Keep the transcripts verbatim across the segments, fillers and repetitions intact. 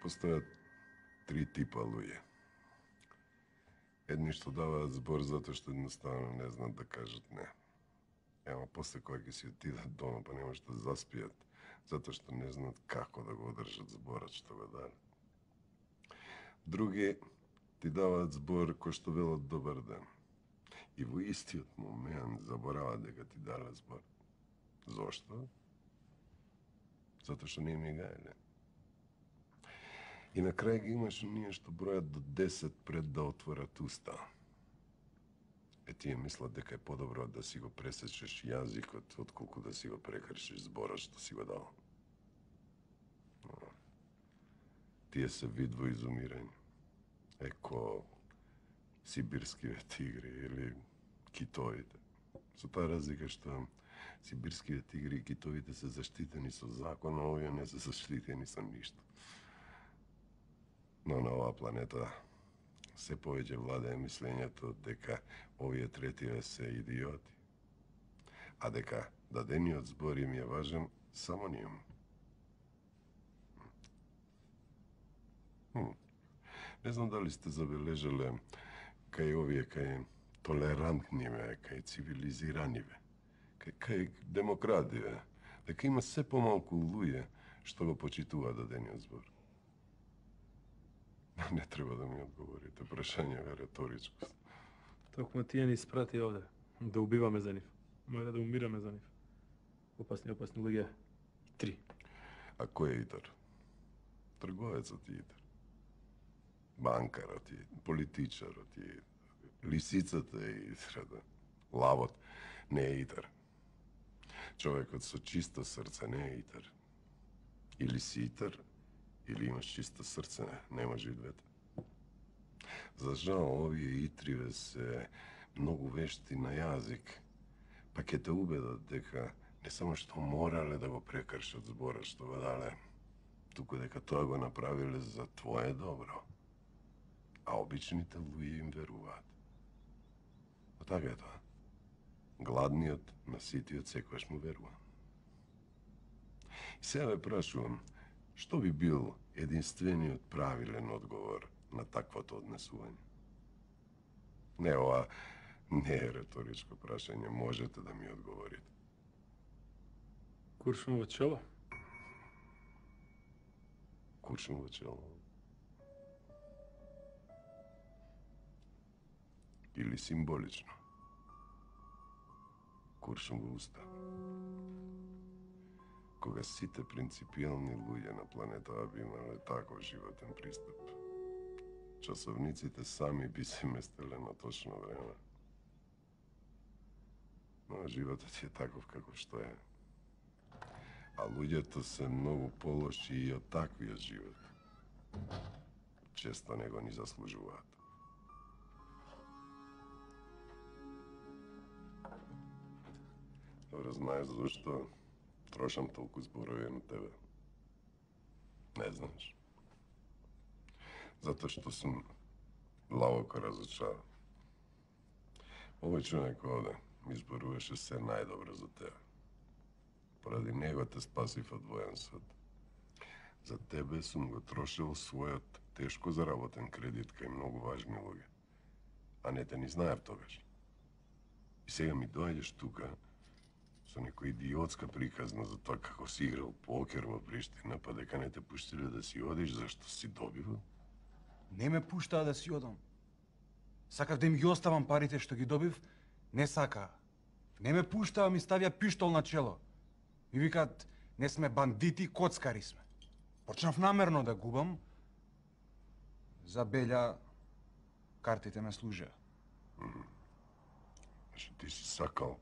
Постојат три типа луѓе. Едни што даваат збор затоа што едноставно не знаат да кажат не. Ема после кога ќе си отидат дома па не можат да заспијат, затоа што не знаат како да го одржат зборот што го дадат. Други ти даваат збор кој што велат добар ден. И во истиот момент забораваат дека ти дале збор. Зошто? Затоа што не ми гајле. И на крај ги имаш оние што бројат до десет пред да отворат уста. Е, тие мислат дека е подобро да си го пресечеш јазикот, отколку да си го прекршиш зборот што си го дал. Но, тие се вид во изумирање. Еко сибирскиве тигри или китовите. Со таа разлика што сибирскиве тигри и китовите се заштитени со закон, а овие не се заштитени со ништо. Но на оваа планета се повеќе владее мислењето дека овие третиве се идиоти, а дека дадениот збор им е важен само ним. Хм. Не знам дали сте забележале кај овие, кај толерантниве, кај цивилизираниве, кај, кај демокративе, дека има се помалку луѓе што го почитуваат дадениот збор. Не треба да ми одговорите, прашање е реторичко. Токму тие ни испрати овде, да убиваме за нив. Може да умираме за нив. Опасни, опасни луѓе. Три. А кој е Итар? Трговецот е Итар. Банкарот е, политичарот е, лисицата е Итар, да. Лавот не е Итар. Човекот со чисто срце не е Итар. Или си Итар, или имаш чисто срце, не може и двете. За жал, овие итриве се многу вешти на јазик, па ќе те убедат дека не само што морале да го прекршат зборот што го дале, туку дека тоа го направиле за твое добро, а обичните луѓе им веруваат. А така е тоа. Гладниот на ситиот секогаш му верува. И сега ве прашувам, што би бил единствениот правилен одговор на таквото однесување? Не, ова не е реторичко прашање, можете да ми одговорите. Куршум во чело? Куршум во чело? Или символично? Куршум во уста? Кога сите принципиални луѓе на планетава би имале таков животен пристап, часовниците сами би се местеле на точно време. Но животот е таков каков што е. А луѓето се многу полоши и од таквиот живот. Често не го ни заслужуваат. Добро знаеш зашто трошам толку зборови на тебе. Не знаеш. Затоа што сум длабоко разочаран. Овој човек овде ми зборуваше се најдобро за тебе. Поради него те спасив од воен суд. За тебе сум го трошил својот тешко заработен кредит кај многу важни луѓе. А не те ни знаев тогаш. И сега ми доаѓаш тука со некоја идиотска приказна за тоа како си играл покер во Приштина, па дека не те пуштиле да си одиш зашто си добивал? Не ме пуштаа да си одам. Сакав да им ги оставам парите што ги добив, не сакаа. Не ме пуштаа, ми ставија пиштол на чело. Ми викаат, не сме бандити, коцкари сме. Почнав намерно да губам. За Белја картите ме служеа. Значи ти си сакал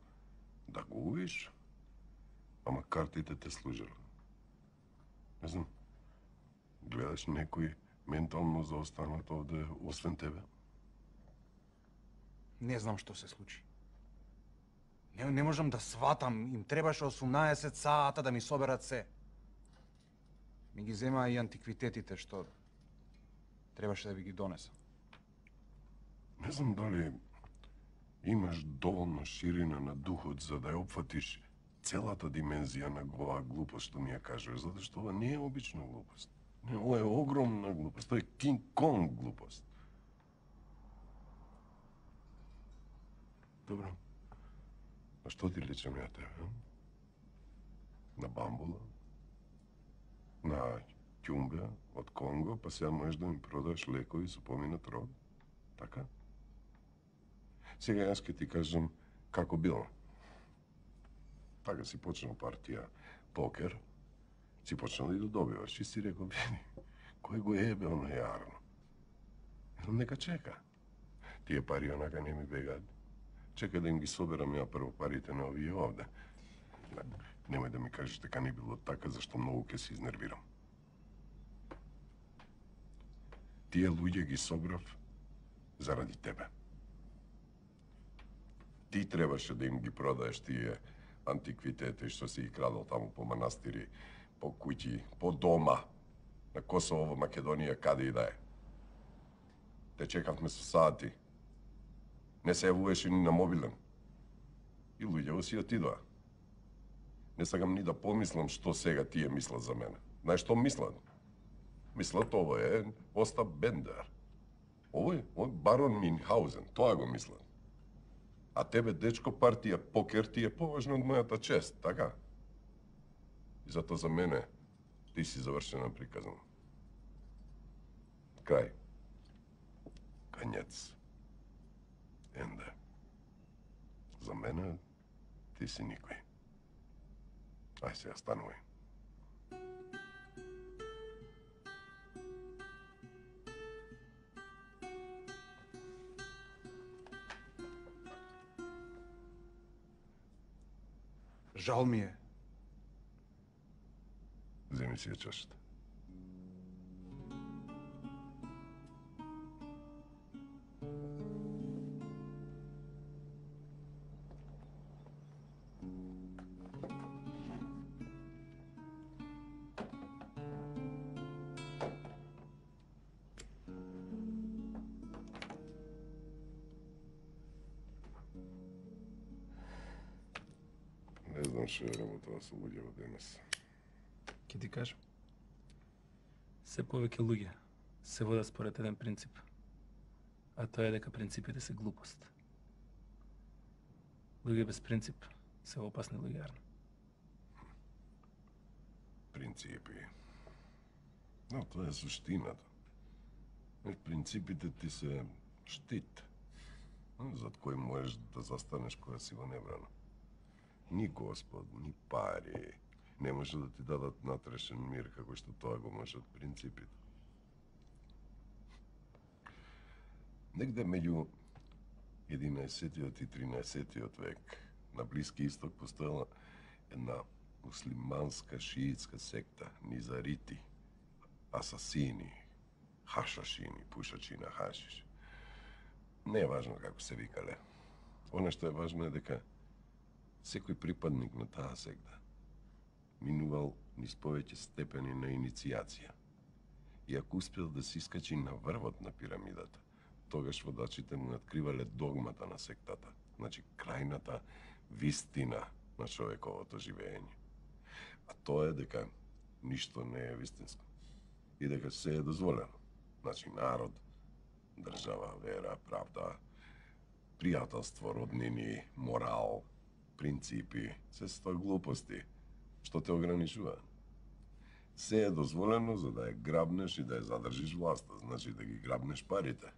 да губиш, ама картите те служеле. Не знам, гледаш некој ментално заостанат овде, освен тебе? Не знам што се случи. Не, не можам да сватам, им требаше осумнаесет сата да ми соберат се. Ми ги земаа и антиквитетите што требаше да ви ги донесам. Не знам дали имаш доволно ширина на духот за да ја опфатиш целата димензија на оваа глупост што ми ја кажуваш, затоа што ова не е обична глупост. Не, ова е огромна глупост. Тоа е Кинг Конг глупост. Добро. А што ти личам ја тебе? А? На бамбула? На ќумбе од Конго, па сега можеш да ми продаш лекови со поминат род? Така? Сега јас ке ти кажам како било. Така си почнал партија покер, си почнал и да добиваш и си рекол, види, кој го ебе оно јарно? Едно нека чека. Тие пари онака не ми бегаат. Чека да им ги соберам ја прво парите на овие овде. Немој да ми кажеш дека не било така, зашто многу ке се изнервирам. Тие луѓе ги собрав заради тебе. Ти требаше да им ги продаеш тие антиквитети што си ги крадал таму по манастири, по куќи, по дома, на Косово, во Македонија, каде и да е. Те чекавме со сати. Не се јавуваше ни на мобилен. И луѓето си отидоа. Не сакам ни да помислам што сега тие мислат за мене. Знаеш што мислат? Мислат ово е Остап Бендер. Овој, овој барон Минхаузен, тоа го мислат. А тебе, дечко, партија покер ти е поважна од мојата чест, така? И затоа за мене ти си завршена приказна. Крај. Конец. Енде. За мене ти си никој. Ај сега станувај. Жал ми е. Земи си ја чашата. Не знам што е работа со луѓето денес. Ке ти кажам. Се повеќе луѓе се водат според еден принцип. А тоа е дека принципите се глупост. Луѓе без принцип се опасни луѓе. Принципи. Но тоа е суштината. Принципите ти се штит, зад кој можеш да застанеш кога си во небрана. Ни Господ, ни пари не може да ти дадат натрешен мир како што тоа го можат принципите. Негде меѓу единаесеттиот и тринаесеттиот век на Блиски Исток постоела една муслиманска шиитска секта, низарити, асасини, хашашини, пушачи на хашиш. Не е важно како се викале. Оно што е важно е дека секој припадник на таа секта минувал низ повеќе степени на иницијација. И ако успел да се искачи на врвот на пирамидата, тогаш водачите му откривале догмата на сектата, значи крајната вистина на човековото живење. А тоа е дека ништо не е вистинско. И дека се е дозволено. Значи народ, држава, вера, правда, пријателство, роднини, морал, принципи, се се тоа глупости, што те ограничуваат. Се е дозволено за да ја грабнеш и да ја задржиш власта, значи да ги грабнеш парите.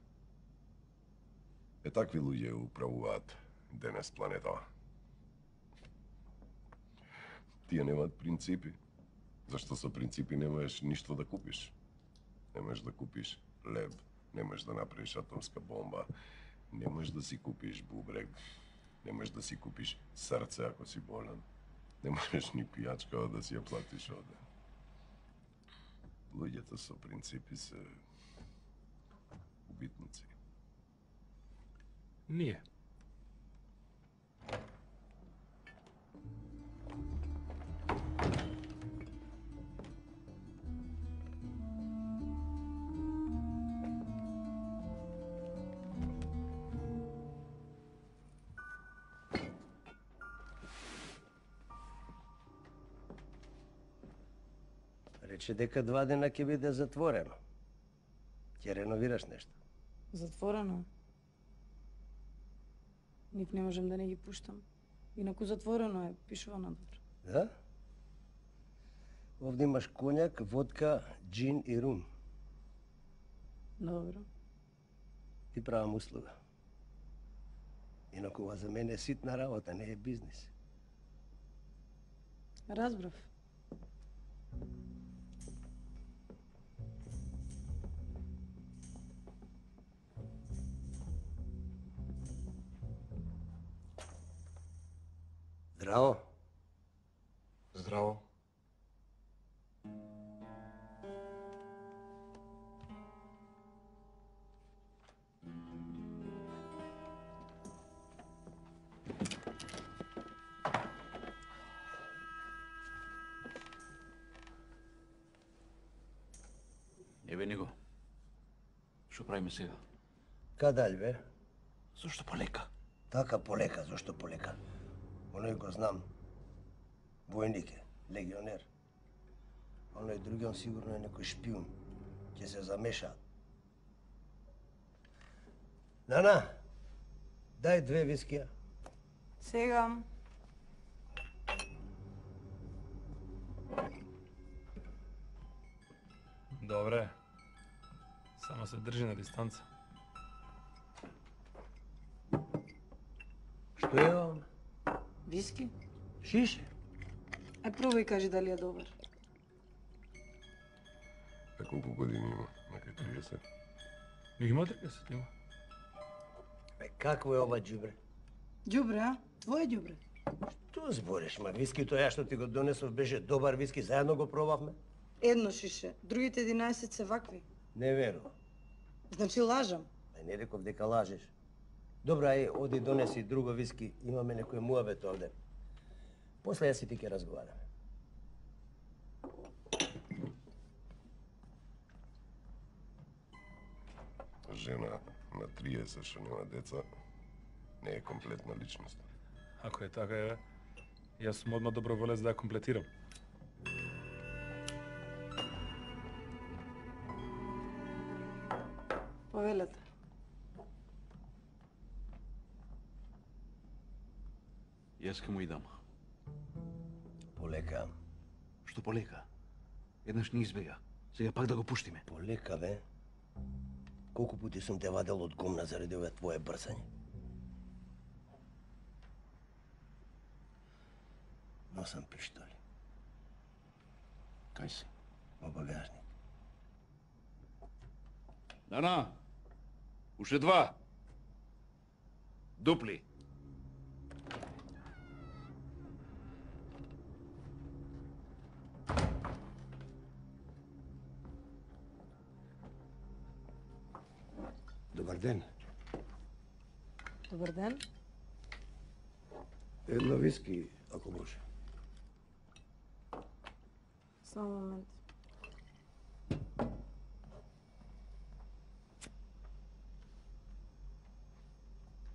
Е такви луѓе управуваат денес планетава. Тие немаат принципи, зашто со принципи не можеш ништо да купиш. Не можеш да купиш леб, не можеш да направиш атомска бомба, не можеш да си купиш бубрек, не можеш да си купиш срце ако си болен, не можеш ни пијачка да си ја платиш оде. Луѓето со принципи се убитници. Ние. Рече дека два дена ќе биде затворено. Ќе реновираш нешто. Затворено. Ник не можам да не ги пуштам. Инаку затворено е, пишува надвор. Да? Овде имаш коњак, водка, джин и рум. Добро. Ти правам услуга. Инаку ова за мене е ситна работа, не е бизнис. Разбрав. Здраво. Здраво. Еве него. Што правиме сега? Кадалј бе? Зошто полека? Така полека, зашто полека? Оној го знам. Војник е, легионер. Оној другиот сигурно е некој шпион. Ќе се замешаат. Нана, дај две вискија. Сега. Добре. Само се држи на дистанца. Што е ова? Виски? Шише? Ај пробај кажи дали е добар. А колку години има? Некај триесет. Има триесет, има. Бе, какво е ова џубре? Ѓубре, а? Твое ѓубре. Што збориш, ма вискито ја што ти го донесов беше добар виски, заедно го пробавме? Едно шише, другите единаесет се вакви. Не верувам. Значи лажам. Бе, не реков дека лажеш. Добра, ај, оди донеси друго виски, имаме некој муабет овде. После јас и ти ќе разговараме. Жена на триесет што нема деца не е комплетна личност. Ако е така, е, јас сум одма доброволец да ја комплетирам. Повелете. Јас ке му идам. Полека, Што полека? Еднаш ни избега. Сега пак да го пуштиме. полека, бе. Колку пути сум те вадел од гумна заради ова твое брсање? Носам пиштоли Кај се? во багажник. Нана! Уште два! Дупли! Добар ден. Добар ден. Едно виски, ако може. Само момент.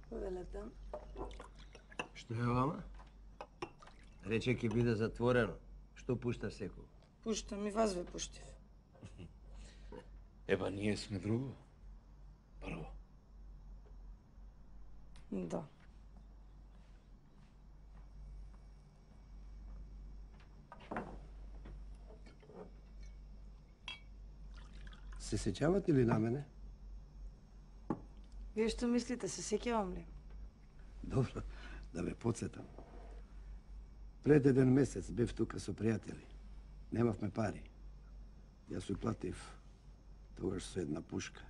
Повелете. Што е вама? Рече ќе биде затворено. Што пушташ секој? Пуштам и вас ве пуштив. Еба, ние сме друго. Прво. Да. Се сеќавате ли на мене? Вие што мислите, се сеќавам ли? Добро, да ве подсетам. Пред еден месец бев тука со пријатели. Немавме пари. Јас ја платив тогаш со една пушка.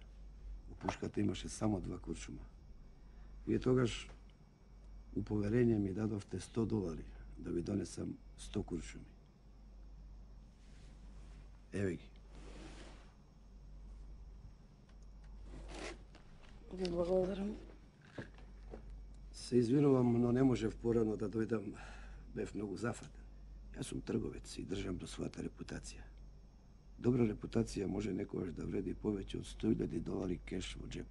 У пушката имаше само два куршума. Вие тогаш у поверење ми дадовте сто долари да ви донесам сто куршуми. Еве ги. Ви благодарам. Се извинувам, но не можев порано да дојдам. Бев многу зафатен. Јас сум трговец и држам до својата репутација. Добра репутација може некогаш да вреди повеќе од сто илјади долари кеш во джеп.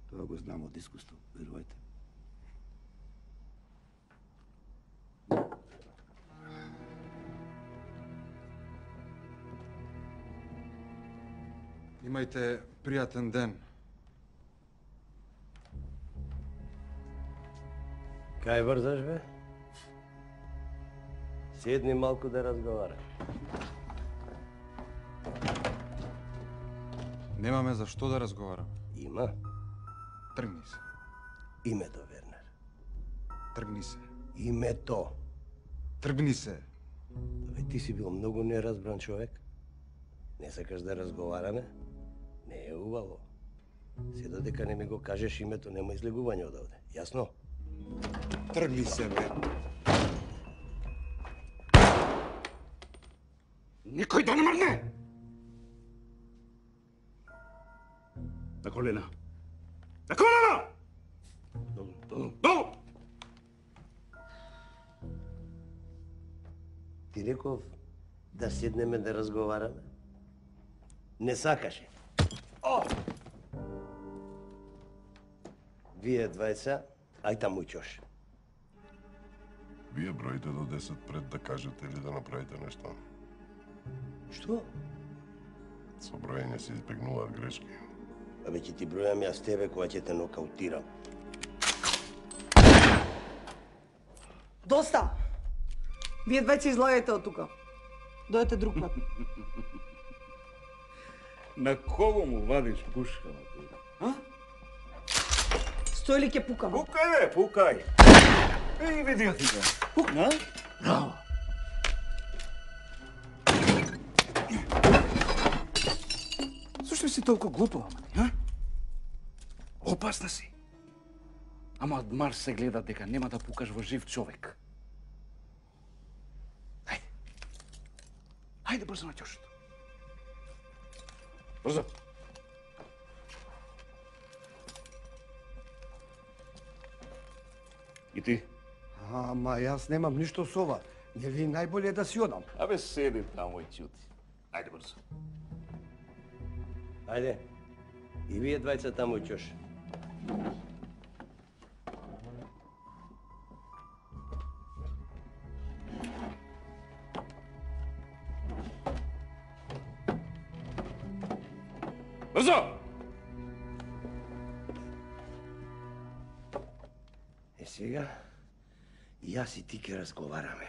Тоа го знам од искуство, верувајте. Имајте пријатен ден. Кај врзаш, бе? Седни малку да разговара. Немаме за што да разговараме. Има Тргни се. името, Вернер. Тргни се. Името. Тргни се. Бе, ти си бил многу неразбран човек. Не сакаш да разговараме? Не е убаво. Се додека не ми го кажеш името, нема излегување од овде. Јасно? Тргни се, бе. Никој да не мрдне! На колена. На колена! Долу, долу. Долу! Ти реков да седнеме да разговараме? Не сакаше. О! Вие двајца, ај таму ќош. Вие броите до десет пред да кажете или да направите нешто. Што? Со броење се избегнуваат грешки. Абе, ќе ти бројам јас тебе кога ќе те нокаутирам. Доста! Вие двајца излагајте од тука. Дојдете друг пат. На кого му вадиш пушка? А? Стој ли ќе пукам? Пукај, бе, пукај! Ей, види ја ти, бе. Пукна? Браво! Зошто си толку глупава, мани, а? Опасна си. Ама од Марс се гледа дека нема да пукаш во жив човек. Хајде. Хајде брзо на ќошето. Брзо. И ти? Ама јас немам ништо со ова. Нели најболje да си одам. Абе, седи тамо и ќути. Ајде брзо. Ајде. И вие двајца таму ќош. Брзо! Е сега, јас и ти ќе разговараме.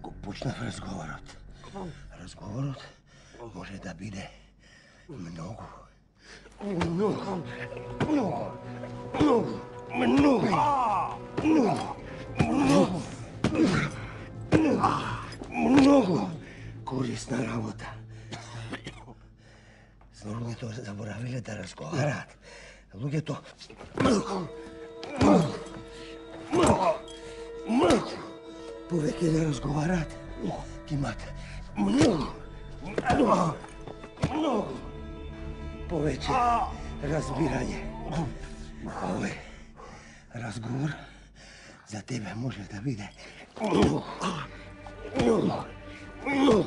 Го почнав разговорот. Разговорот може да биде многу, многу, многу, многу, многу, многу, многу корисна работа. Луѓето заборавиле да разговараат. Луѓето повеќе да разговараат, ќе имат многу, многу повеќе разбирање. Овој разговор за тебе може да биде многу, многу, многу,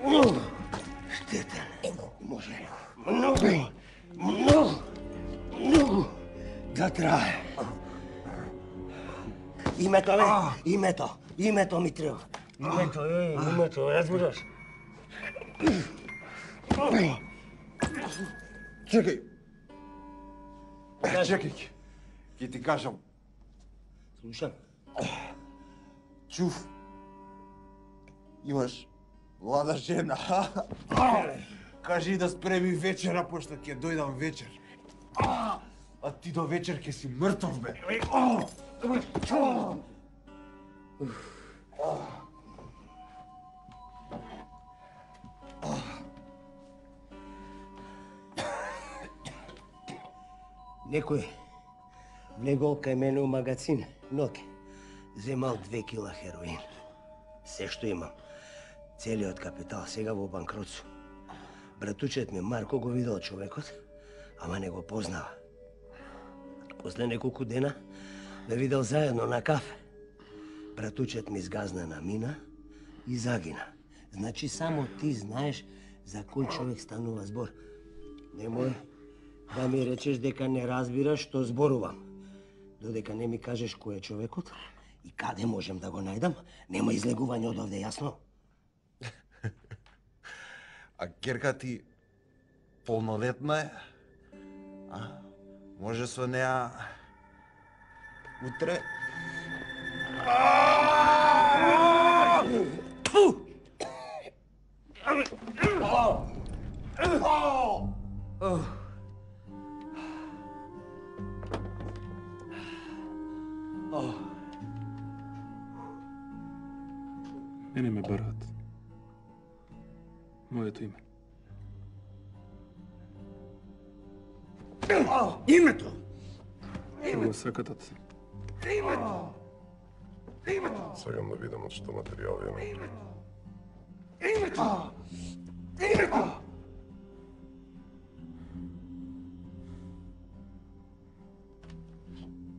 многу штетен. Може многу, многу, многу да трае. Името, бе, името, името ми треба. Името, е, името, разбираш? Чекај. Чекај. Ќе ти кажам. Слушам. Чув. Имаш млада жена. Кажи да спреми вечера, пошто ќе дојдам вечер. А ти до вечер ќе си мртов, бе. Некој влегол кај мене у магазин, ноќе. Земал две кила хероин. Се што имам. Целиот капитал сега во банкрот сум. Братучет ми Марко го видел човекот, ама не го познава. После неколку дена ме видел заедно на кафе. Братучет ми згазна на мина и загина. Значи само ти знаеш За кој човек станува збор? Немој да ми речеш дека не разбираш што зборувам. Додека не ми кажеш кој е човекот и каде можем да го најдам, нема излегување од овде, јасно? А ќерка ти полнолетна е? А? Може со неа утре? Мене ме бараат. Моето име. Името! Што го сакатат? Сакам да видам од што материјал има.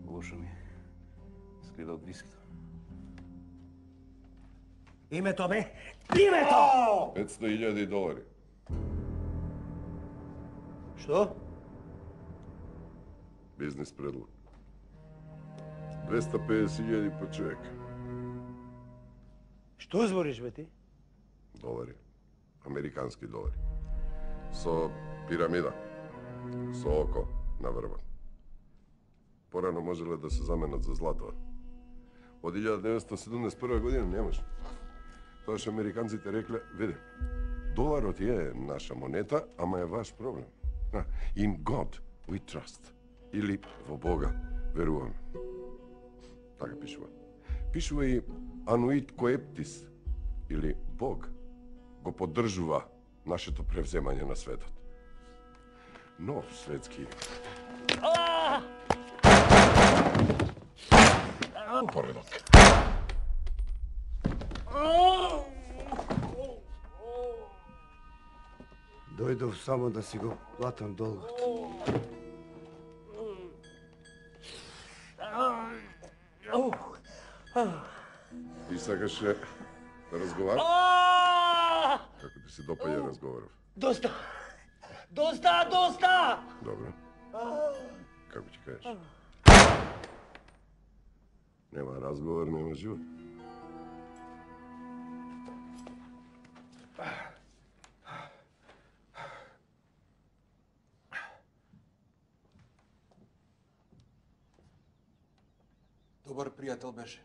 Лошо ми е. Скрида од вискито. Името, бе! Името! петстотини илјади долари. Што? Бизнес предлог. двеста педесет илјади по човек. Што збориш, бе ти? Долари. Американски долари. Со пирамида. Со око на врвот. Порано можеле да се заменат за злато. Од илјада деветстотини седумдесет и прва година не може. Тоаш американците рекле, види, доларот е наша монета, ама е ваш проблем. In God we trust. Или во Бога веруваме. Така пишува. Пишува и Ануит Коептис, или Бог, го поддржува нашето превземање на светот. Нов светски... Поредок. Дојдов само да си го платам долгот. Ти сакаше да разговараш? Како ти се допаѓа разговоров? Доста! Доста, доста! Добро. Како ќе кажеш? Нема разговор, нема живот. Добар пријател беше.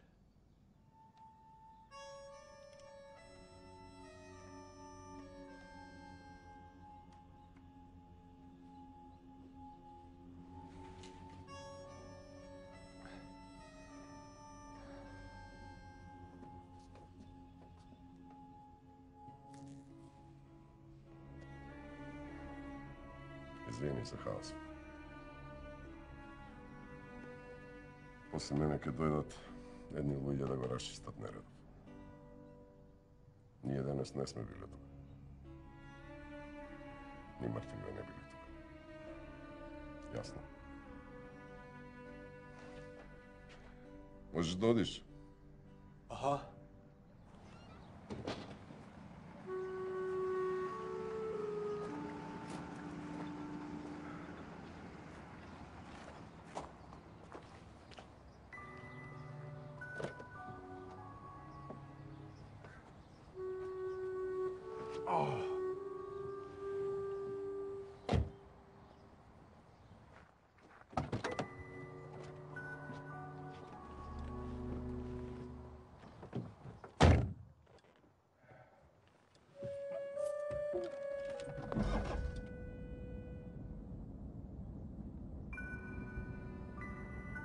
Извини за хаос. После мене ќе дојдат едни луѓе да го расчистат нередов. Ние денес не сме биле тука. Ни мртвиве не биле тука. Јасно. Можеш да одиш? Аха.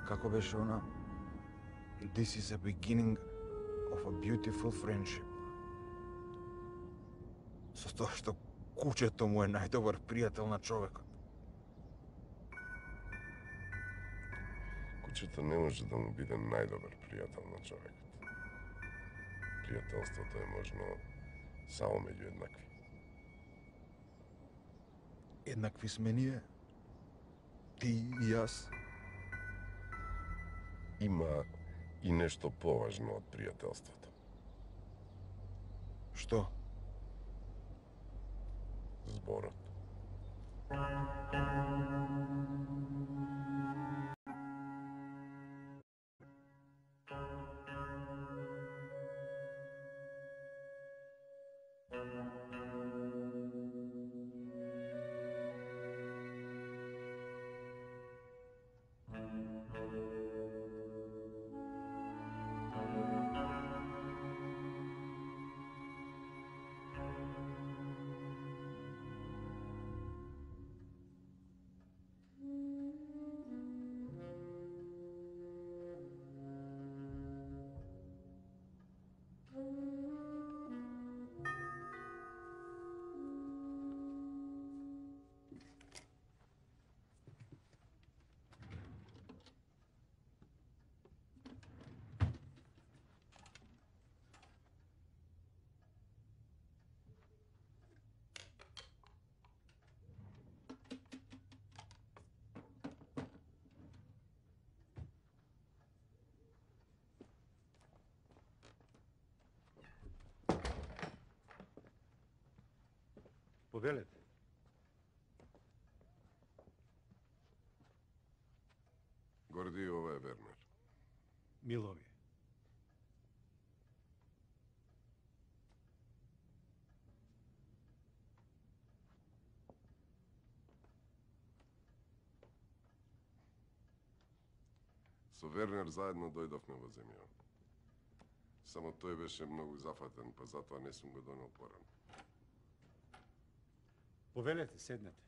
Како беше она? This is a beginning of a beautiful friendship. Со тоа што кучето му е најдобар пријател на човекот. Кучето не може да му биде најдобар пријател на човекот. Пријателството е можно само меѓу еднакви. Еднакви сме ние. Ти и јас. Има и нешто поважно од пријателството. Што? пород. Повелете. Горди, ова е Вернер. Милови. Со Вернер заедно дојдовме во земја. Само тој беше многу зафатен, па затоа не сум го донел порано. Повелете, седнете.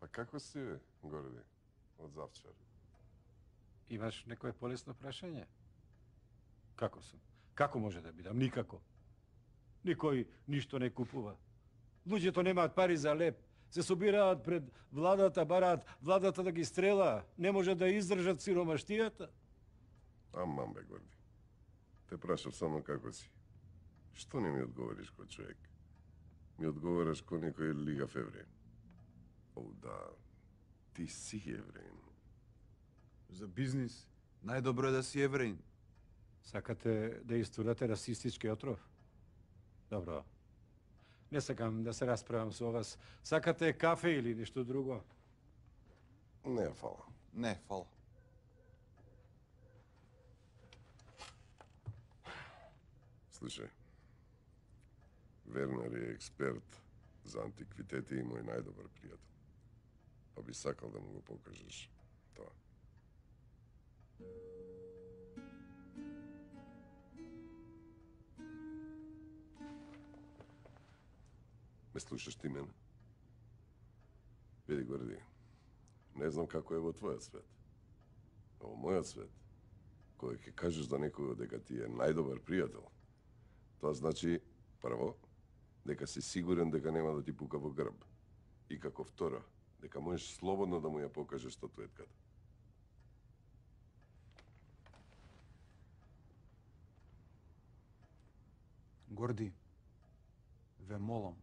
Па како си, бе, Горди, од завчер? Имаш некое полесно прашање? Како сум? Како може да бидам? Никако. Никој ништо не купува. Луѓето немаат пари за леп. Се собираат пред владата, бараат владата да ги стрела. Не може да издржат сиромаштијата. Аман, бе, Горди. Те прашав само како си. Што не ми одговориш ко човек? Ми одговораш ко некој лигав евреин. О, да, ти си евреин. За бизнис најдобро е да си евреин. Сакате да истурате расистички отров? Добро. Не сакам да се расправам со вас. Сакате кафе или нешто друго? Не, фала. Не, фала. Слушај, Вернер е експерт за антиквитети и мој најдобар пријател. Па би сакал да му го покажеш тоа. Ме слушаш ти мене? Види, Горди, не знам како е во твојот свет. А во мојот свет, кога ќе кажеш за некој дека ти е најдобар пријател, тоа значи, прво, дека си сигурен дека нема да ти пука во грб. И како второ, дека можеш слободно да му ја покажеш статуетката. Горди, ве молам.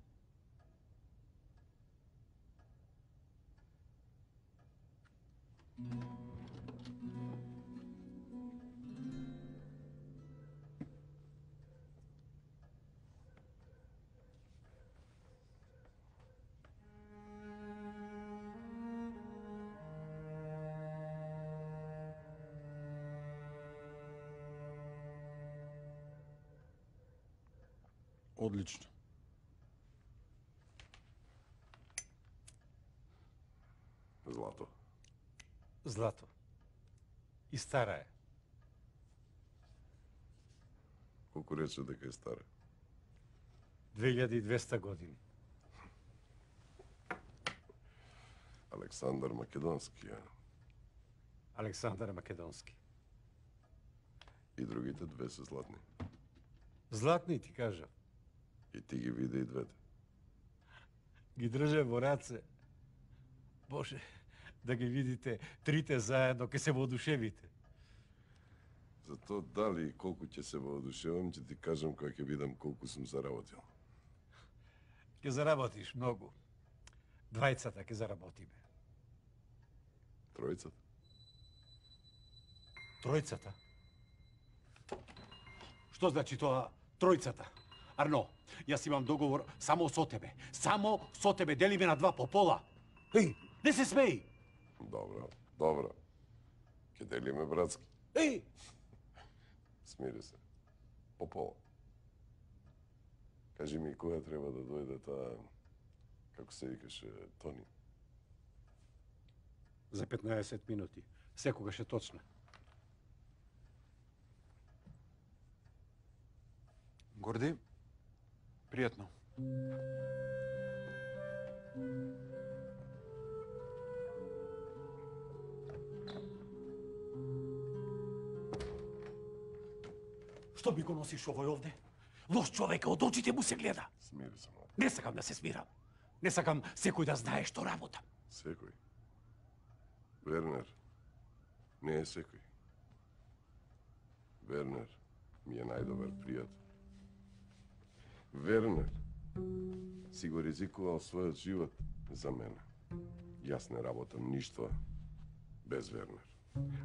Одлично. Злато. Злато. И стара е. Колку рече дека е стара? две илјади и двесте години. Александар Македонски, а? Александар Македонски. И другите две се златни. Златни ти кажав. И ти ги види и двете. Ги држе во раце. Боже, да ги видите трите заедно, ке се воодушевите. За то дали и колку ќе се воодушевам, ќе ти кажам кога ќе видам колку сум заработил. Ке заработиш многу. Двајцата ке заработиме. Тројцата? Тројцата? Што значи тоа тројцата? Арно, јас имам договор само со тебе. Само со тебе, делиме на два по пола. Еј, не се смеј! Добро, добро. Ке делиме братски. Еј! Смири се. По пола. Кажи ми кога треба да дојде таа, како се викаше, Тони? За петнаесет минути. Секогаш е точно. Горди, пријатно. Што ми го носиш овој овде? Лош човек, од очите му се гледа. Смири се, млад. Не сакам да се смирам. Не сакам секој да знае што работам. Секој. Вернер не е секој. Вернер ми е најдобар пријател. Вернер си го ризикувал својот живот за мене. Јас не работам ништо без Вернер.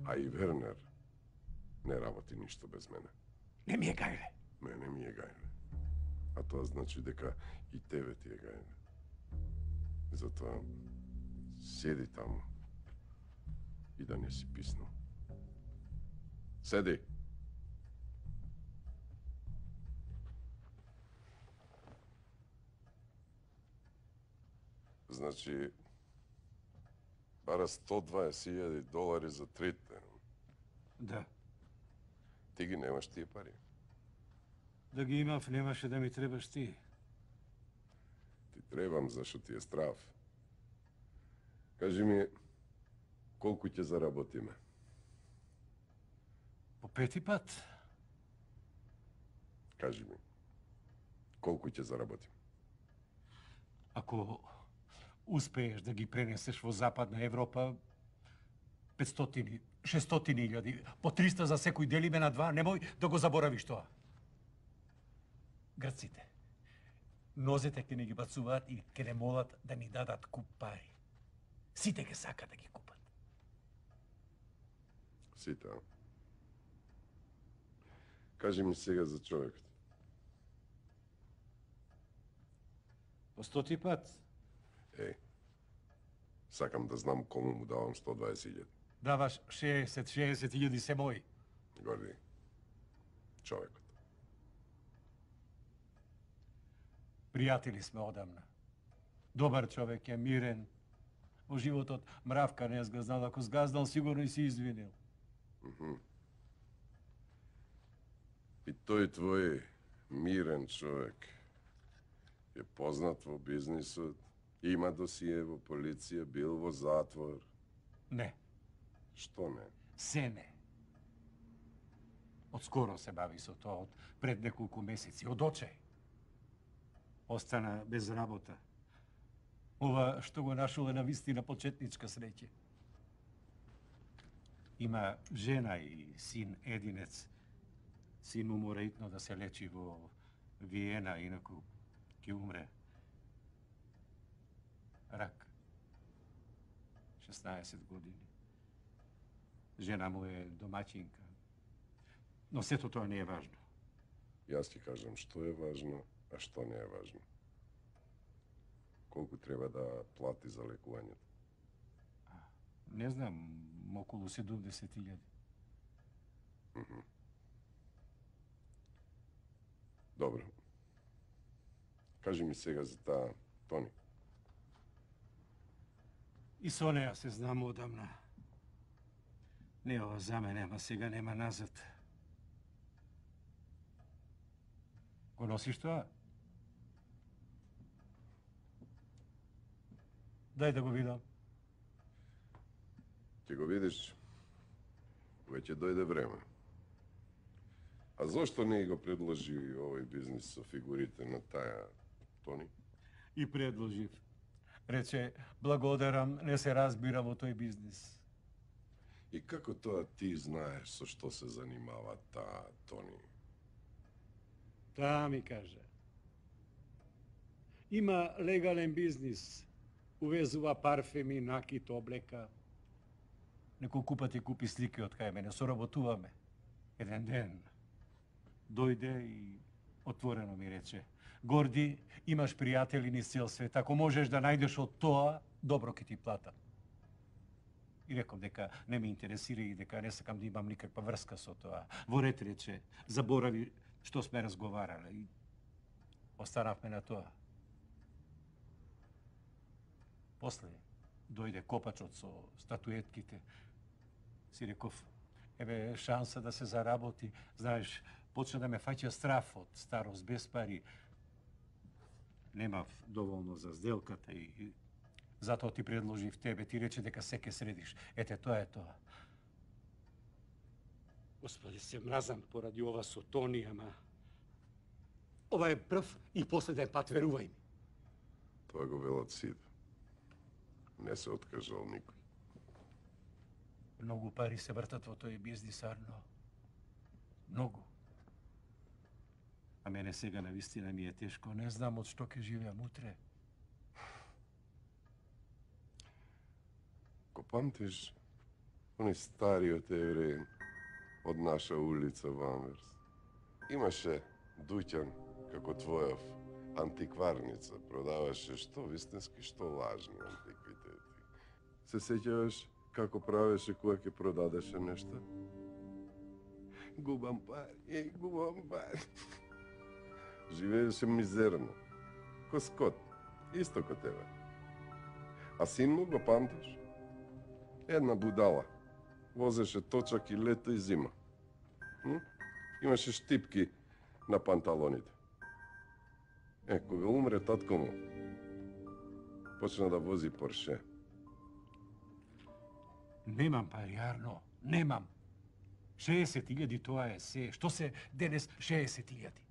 А и Вернер не работи ништо без мене. Не ми е гајле. Мене ми е гајле. А тоа значи дека и тебе ти е гајле. Затоа седи таму и да не си писнал. Седи! Значи, бара сто дваесет илјади долари за трите. Да. Ти ги немаш тие пари. Да ги имав, немаше да ми требаш ти. Ти требам, зашто ти е страв. Кажи ми, колку ќе заработиме? По пети пат? Кажи ми, колку ќе заработиме? Ако успееш да ги пренесеш во Западна Европа, петстотини, шестстотини илјади, по триста за секој делиме на два, немој да го заборавиш тоа. Грците, нозете ќе не ги бацуваат и ќе не молат да ни дадат куп пари. Сите ќе сака да ги купат. Сите, а? Кажи ми сега за човекот. По стоти пат Е, сакам да знам кому му давам сто дваесет илјади. даваш шеесет шеесет илјади се мои. Горди, човекот. Пријатели сме одамна. Добар човек е, мирен. Во животот мравка не згазнал, ако згазнал сигурно и си извинил. И тој твој мирен човек е познат во бизнисот, има досие во полиција, бил во затвор. Не, Што не? се не. Од скоро се бави со тоа, од пред неколку месеци, од очај. Остана без работа. Ова што го нашол е на вистина почетничка среќа. Има жена и син единец. Син му мора итно да се лечи во Виена, инаку ќе умре. Рак. шеснаесет години. Жена му е домаќинка. Но сето тоа не е важно. Јас ти кажам што е важно, а што не е важно. Колку треба да плати за лекувањето? Не знам, околу седумдесет илјади. Добро. Кажи ми сега за таа Тони. И со неја се знам одамна. Не ова за мене, ама сега нема назад. Го носиш тоа? Дај да го видам. Ќе го видиш, кога ќе дојде време. А зошто не го предложи овој бизнис со фигурите на таа Тони? И предложив. Рече, благодарам, не се разбира во тој бизнис. И како тоа ти знаеш со што се занимава таа Тони? Таа ми кажа. Има легален бизнис. Увезува парфеми, накит, облека. Неколку пати купи слики од кај мене, соработуваме. Еден ден дојде и отворено ми рече: Горди, имаш пријатели низ цел свет, ако можеш да најдеш од тоа, добро ќе ти платам. И реков дека не ме интересира и дека не сакам да имам никаква врска со тоа. Во ред рече, заборави што сме разговарале и останавме на тоа. После дојде копачот со статуетките. Си реков, еве шанса да се заработи. Знаеш, почна да ме фаќа страф од старост без пари. Немав доволно за сделката и, и затоа ти предложив тебе. Ти рече дека се ке средиш. Ете, тоа е тоа. Господи, се мразам поради ова со Тони, ама... Ова е прв и последен пат, верувај ми. Тоа го велат сите. Не се откажал никој. Многу пари се вртат во тој бизнис, Арно. Многу. А мене сега на вистина ми е тешко. Не знам од што ќе живеам утре. Ко памтиш они стариот евреин од наша улица во Анверс? Имаше дуќан како твојов, антикварница. Продаваше што вистински, што лажни антиквитети. Се сеќаваш како правеше кога ќе продадеше нешто? Губам пари, еј, губам пари. Живееше мизерно. Ко скот, исто ко тебе. А син му го памтиш? Една будала. Возеше точак и лето и зима. М? Имаше штипки на панталоните. Е, кога умре татко му, почна да вози Порше. Немам пари, Арно. Немам. шеесет илјади тоа е се. Што се денес шеесет илјади?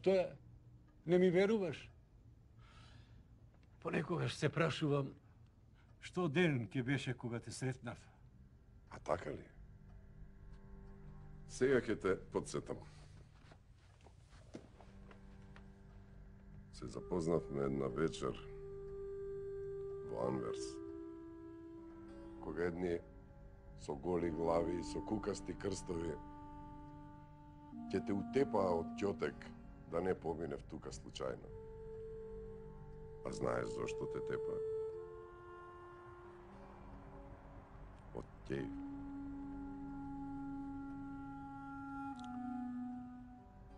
Што е? Не ми веруваш? Понекогаш се прашувам што ден ќе беше кога те сретнав. А така ли? Сега ќе те подсетам. Се запознавме една вечер во Анверс. Кога едни со голи глави и со кукасти крстови ќе те утепаа од ќотек да не поминев тука случајно. А знаеш зошто те тепа? Од ќеј.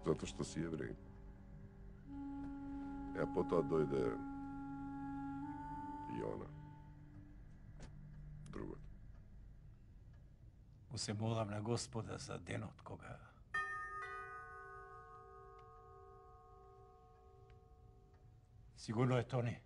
Зато што си евреј. Е, а потоа дојде и она. Другото. Му се молам на Господа за денот кога сигурно е Тони.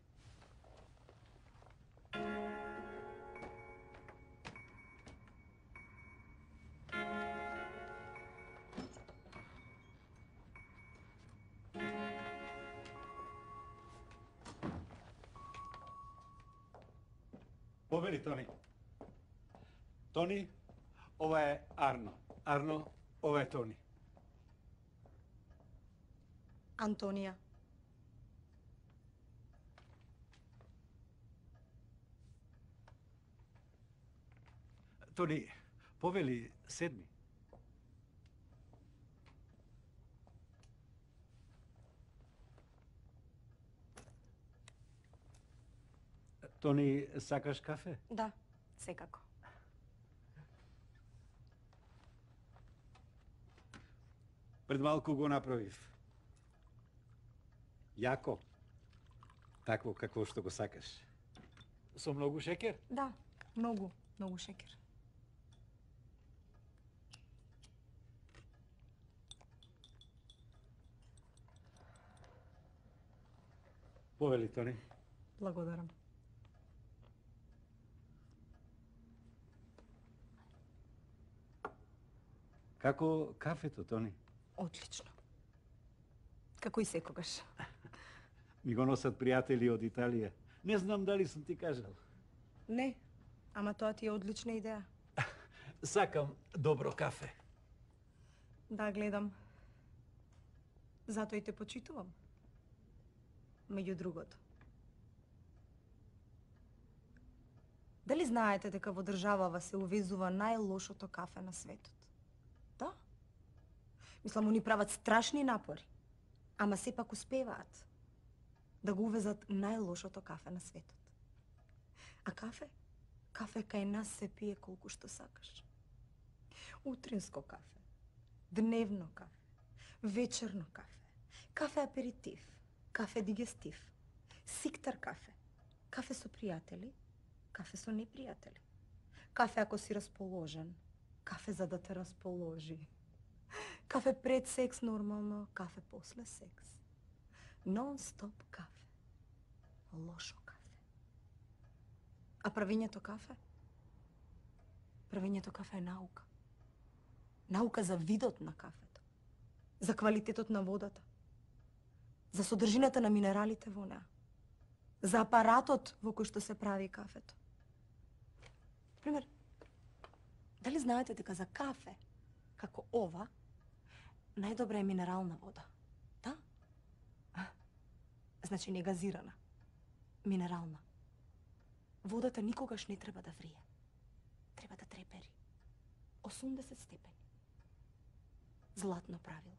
Повели, Тони. Тони, ова е Арно. Арно, ова е Тони. Антонија. Тони, повели, седми. Тони, сакаш кафе? Да, секако. Пред малку го направив. Јако. Такво какво што го сакаш. Со многу шекер? Да, многу, многу шекер. Повели, Тони. Благодарам. Како кафето, Тони? Одлично. Како и секогаш. Ми го носат пријатели од Италија. Не знам дали сум ти кажал. Не, ама тоа ти е одлична идеја. Сакам добро кафе. Да, гледам. Затоа и те почитувам. Меѓу другото. Дали знаете дека во државава се увезува најлошото кафе на светот? Да. Мислам, они прават страшни напори, ама сепак успеваат да го увезат најлошото кафе на светот. А кафе? Кафе кај нас се пие колку што сакаш. Утринско кафе, дневно кафе, вечерно кафе, кафе аперитив, кафе дигестив, сиктар кафе, кафе со пријатели, кафе со непријатели, кафе ако си расположен, кафе за да те расположи, кафе пред секс нормално, кафе после секс, нон-стоп кафе, лошо кафе. А правењето кафе? Правењето кафе е наука. Наука за видот на кафето, за квалитетот на водата, за содржината на минералите во неа, за апаратот во кој што се прави кафето. Пример, дали знаете дека за кафе, како ова, најдобра е минерална вода? Да? Значи не газирана, минерална. Водата никогаш не треба да врие. Треба да трепери. осумдесет степени. Златно правило.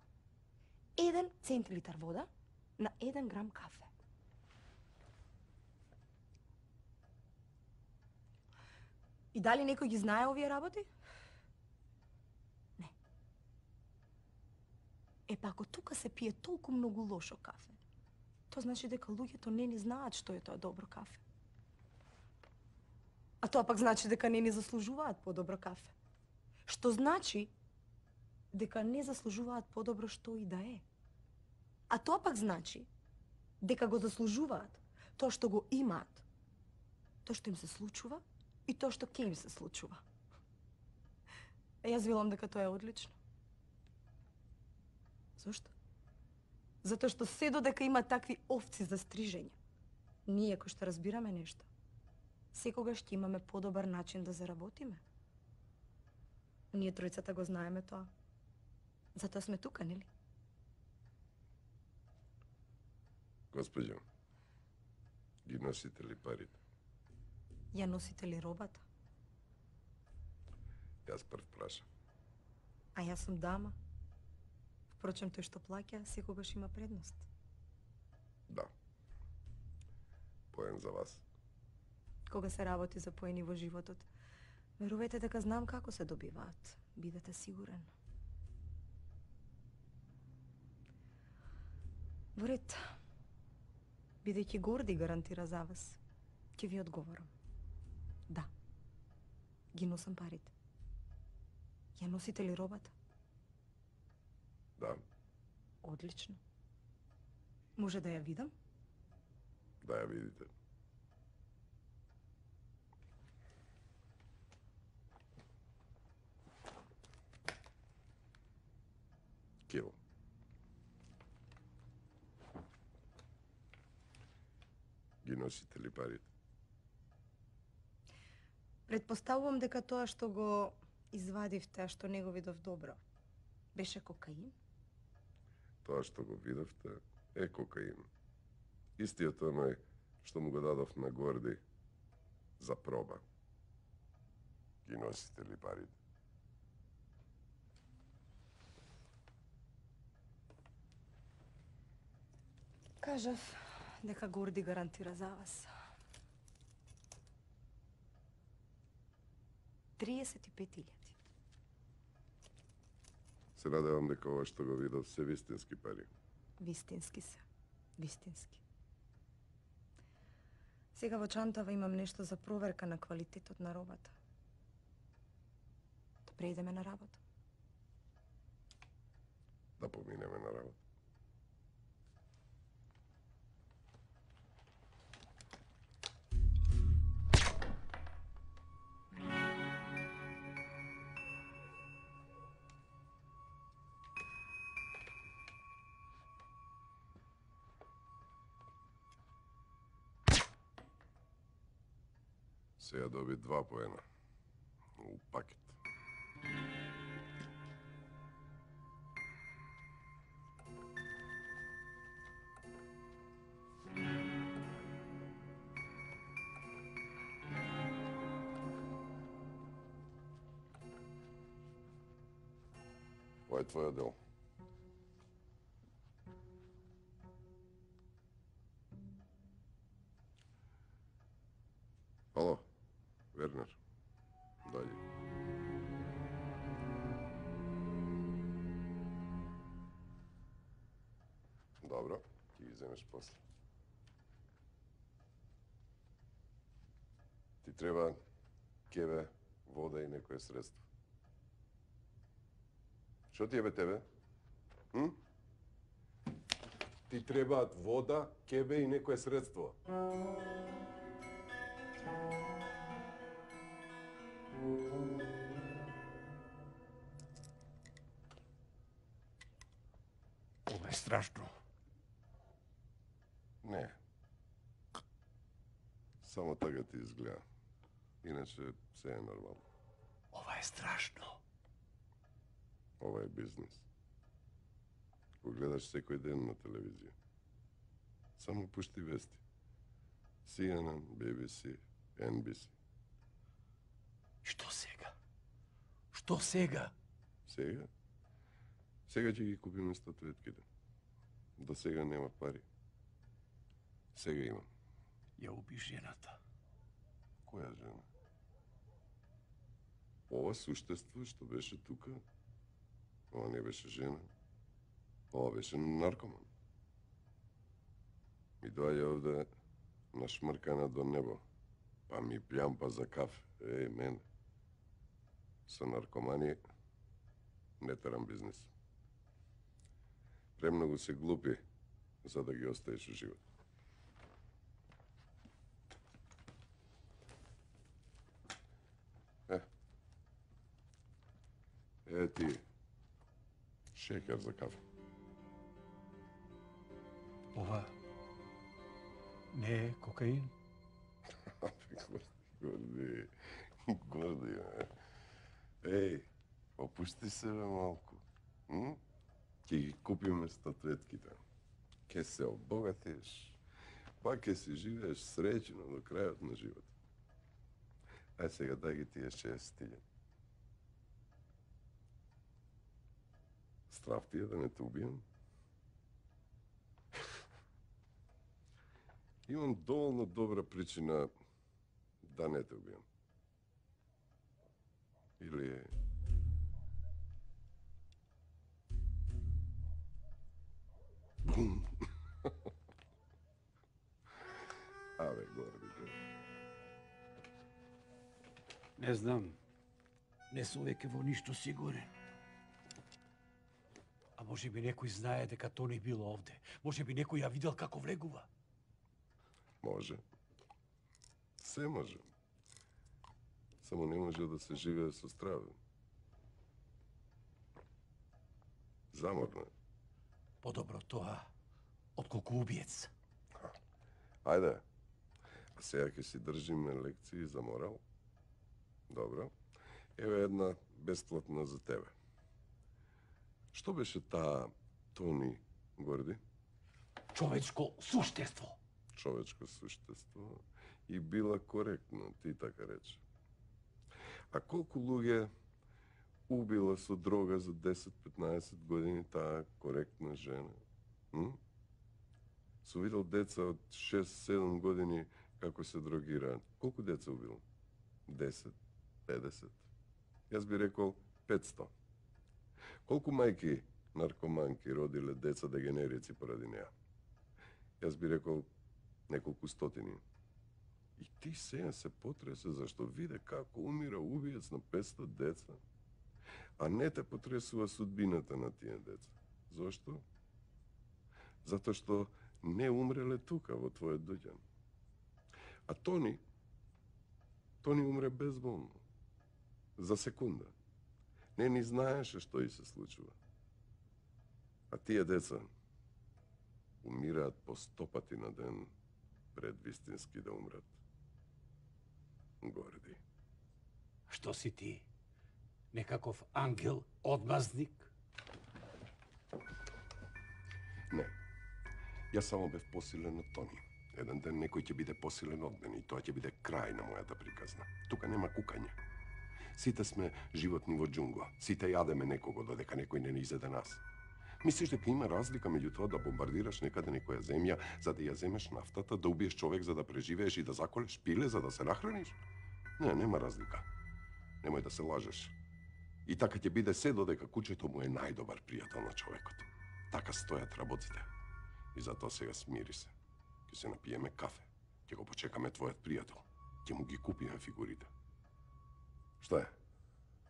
Еден центилитар вода на еден грам кафе. И дали некој ги знае овие работи? Не. Е, па ако тука се пие толку многу лошо кафе, тоа значи дека луѓето не ни знаат што е тоа добро кафе. А тоа пак значи дека не ни заслужуваат подобро кафе. Што значи дека не заслужуваат подобро што и да е. А тоа пак значи дека го заслужуваат тоа што го имаат, тоа што им се случува и тоа што ќе им се случува. Е, јас велам дека тоа е одлично. Зошто? Затоа што се додека има такви овци за стрижење, ние кои што разбираме нешто, секогаш ќе имаме подобар начин да заработиме. Ние тројцата го знаеме тоа. Затоа сме тука, нели? Госпоѓо, ги носите ли парите? Ја носите ли робата? Јас прв прашам. А јас сум дама. Впрочем, тој што плаќа секогаш има предност. Да. Поен за вас. Кога се работи за поени во животот, верувајте дека знам како се добиваат. Бидете сигурен. Во ред, бидејќи Горди гарантира за вас, ќе ви одговорам. Да, ги носам парите. Ја носите ли робата? Да. Одлично. Може да ја видам? Да ја видите. Кил. Ги носите ли парите? Предпоставувам дека тоа што го извадивте, а што не го видов добро, беше кокаин? Тоа што го видовте е кокаин. Истиот оној што му го дадов на Горди за проба. Ги носите ли парите? Кажав дека Горди гарантира за вас. триесет и пет илјади. Се надевам дека ова што го видов се вистински пари. Вистински се. Вистински. Сега во чантава имам нешто за проверка на квалитетот на робата. Да преидеме на работа. Да поминеме на работа. Сега доби два поена. У пакет. Ова е твојот дел. Ало, Вернер, дојди. Добро, ќе ги земеш после. Ти треба кеве, вода и некое средство. Што ти ебе тебе? М? Ти требаат вода, кебе и некое средство. Ова е страшно. Не. Само така ти изгледа. Иначе се е нормално. Ова е страшно. Ова е бизнес. Го гледаш секој ден на телевизија. Само пушти вести. Си Ен Ен, Би Би Си, Ен Би Си. Што сега? Што сега? Сега? Сега ќе ги купиме статуетките. До сега нема пари. Сега имам. Ја уби жената. Која жена? Ова суштество што беше тука, ова не беше жена. Ова беше наркоман. Ми доаѓа овде нашмркана до небо, па ми плямпа за кафе. Еј, мене. Со наркомани не терам бизнес. Премногу се глупи за да ги оставиш у живот. Е. Е ти. Шекер за кафе. Ова не е кокаин? Горди, горди, бе. Еј, опусти се бе малку. М? Ке ги купиме статуетките. Ке се обогатиш. Па ке си живееш среќено до крајот на живот. Ај сега дај ги тие шест стилја. Страв ти е да не те убијам? Имам доволно добра причина да не те убијам. Или... Бум! Абе, горди, бе. Не знам. Не сум веќе во ништо сигурен. А може би некој знае дека Тони бил овде. Може би некој ја видел како влегува. Може. Се може. Само не може да се живее со страве. Заморно е. Подобро тоа, отколку убиец. Ајде. А сега ќе си држиме лекции за морал. Добро. Еве една бесплатна за тебе. Што беше таа Тони, Горди? Човечко суштество. Човечко суштество и била коректна, ти така рече. А колку луѓе убила со дрога за десет-петнаесет години таа коректна жена? М? Су видел деца од шест-седум години како се дрогираат. Колку деца убила? десет, педесет. Јас би рекол петсто. Колку мајки наркоманки родиле деца дегенерици поради неа? Јас би рекол неколку стотини. И ти сега се потресе зашто виде како умира убиец на петсто деца, а не те потресува судбината на тие деца. Зошто? Затоа што не умреле тука во твојот доѓање. А Тони, Тони умре безболно. За секунда. Не ни знаеше што и се случува. А тие деца умираат по сто пати на ден пред вистински да умрат. Горди. Што си ти? Некаков ангел одмазник? Не. Јас само бев посилен од Тони. Еден ден некој ќе биде посилен од мене и тоа ќе биде крај на мојата приказна. Тука нема кукање. Сите сме животни во џунгла. Сите јадеме некого додека некој не ни изеде нас. Мислиш дека има разлика меѓу тоа да бомбардираш некаде некоја земја за да ја земеш нафтата, да убиеш човек за да преживееш и да заколеш пиле за да се нахраниш? Не, нема разлика. Немој да се лажеш. И така ќе биде се додека кучето му е најдобар пријател на човекот. Така стојат работите. И затоа сега смири се. Ќе се напиеме кафе. Ќе го почекаме твојот пријател. Ќе му ги купиме фигурите. Што е?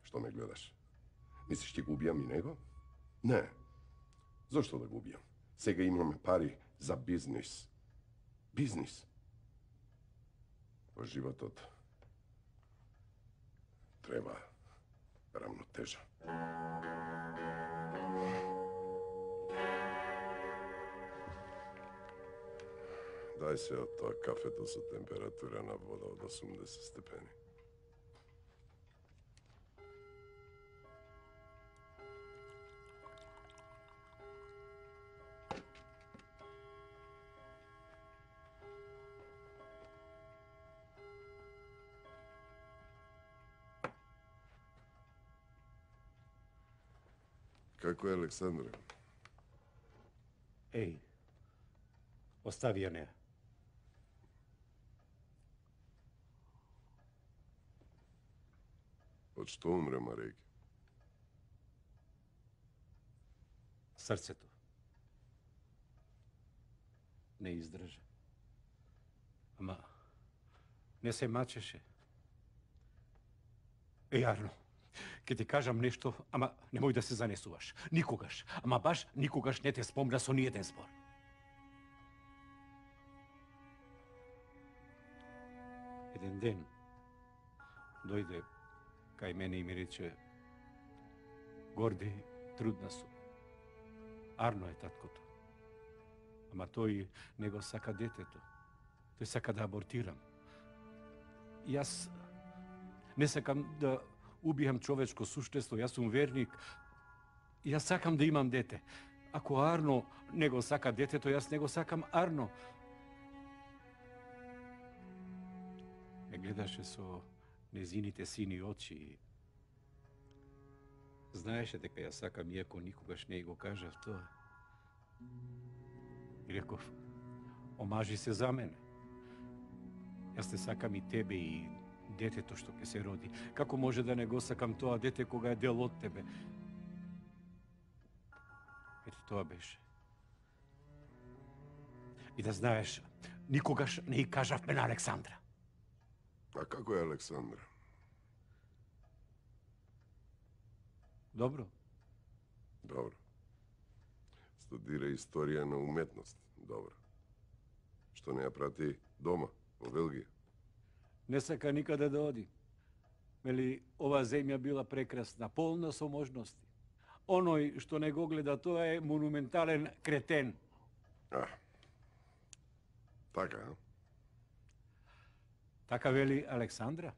Што ме гледаш? Мислиш ќе го убијам и него? Не. Зошто да го убијам? Сега имаме пари за бизнис. Бизнис. Во животот треба рамнотежа. Дај се од тоа кафето со температура на вода од осумдесет степени. Како е Александра? Еј, остави ја неа. Од што умре Марејке? Срцето. Не издржа. Ама, не се мачеше. Еј, Арно, ќе ти кажам нешто, ама немој да се занесуваш. Никогаш, ама баш никогаш не те спомна со ниеден збор. Еден ден дојде кај мене и ми рече: Горди, трудна сум. Арно е таткото. Ама тој не го сака детето. Тој сака да абортирам. И јас не сакам да убијам човечко суштество, јас сум верник. И јас сакам да имам дете. Ако Арно не го сака детето, јас не го сакам Арно. Ме гледаше со незините сини очи. Знаеше дека ја сакам, иако никогаш не го кажав тоа. И реков: омажи се за мене. Јас те сакам и тебе и детето што ќе се роди. Како може да не го сакам тоа дете кога е дел од тебе? Ето тоа беше. И да знаеш, никогаш не и кажавме на Александра. А како е Александра? Добро. Добро. Студира историја на уметност. Добро. Што не ја прати дома, во Белгија? Не сака никаде да оди. Мели, ова земја била прекрасна, полна со можности. Оној што не го гледа тоа е монументален кретен. А, така, а? Така вели Александра?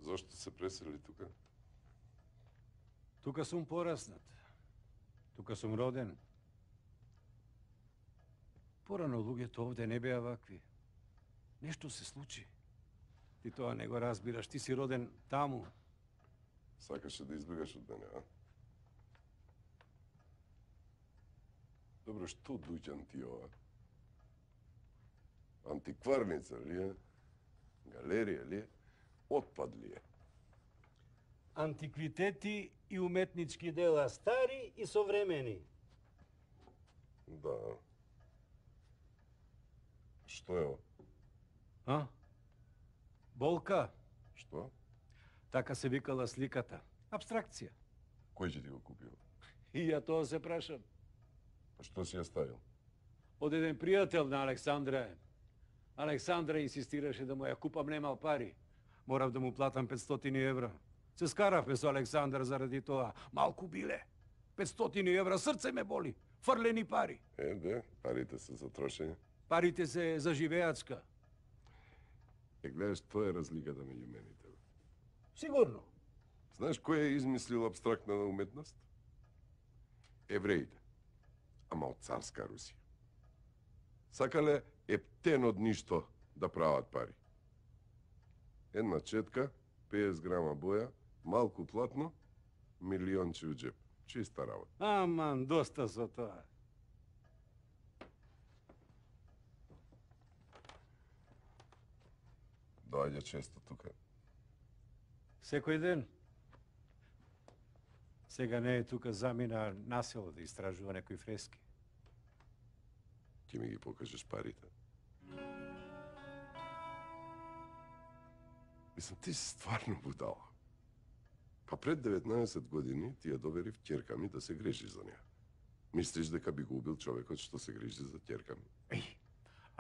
Зошто се пресели тука? Тука сум пораснат. Тука сум роден. Порано луѓето овде не беа вакви. Нешто се случи. Ти тоа не го разбираш, ти си роден таму. Сакаше да избегаш од мене, а? Добро, што дуќан ти ова? Антикварница ли е? Галерија ли е? Отпад ли е? Антиквитети и уметнички дела, стари и современи. Да. Што е ова? А? Болка. Што? Така се викала сликата. Абстракција. Кој ќе ти го купил? И ја тоа се прашам. Па што си ја ставил? Од еден пријател на Александра. Александра инсистираше да му ја купам, немал пари. Морав да му платам петстотини евра. Се скаравме со Александар заради тоа. Малку биле. петстотини евра, срце ме боли. Фрлени пари. Е, де, парите се за трошење. Парите се за живеацка. Е, гледаш, тоа е разликата меѓу мене и тебе. Сигурно. Знаеш кој е измислил абстрактна уметност? Евреите. Ама од царска Русија. Сакале ептен од ништо да прават пари. Една четка, петдесет грама боја, малку платно, милионче у джеп. Чиста работа. Аман, доста со тоа. Доаѓа често тука. Секој ден. Сега не е тука, замина на село да истражува некои фрески. Ти ми ги покажеш парите. Мислам, ти си стварно будала. Па пред деветнаесет години ти ја доверив ќерка ми да се грижи за неа. Мислиш дека би го убил човекот што се грижи за ќерка ми? Еј,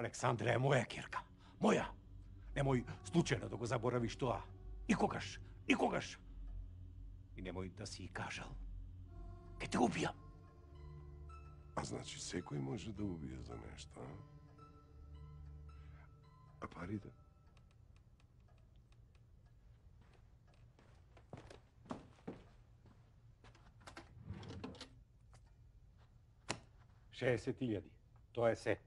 Александра е моја ќерка. Моја. Немој случајно да го заборавиш тоа. Никогаш, никогаш. И немој да си и кажал. Ке те убијам. А значи секој може да убие за нешто, а? А парите? шеесет илјади. Тоа е се.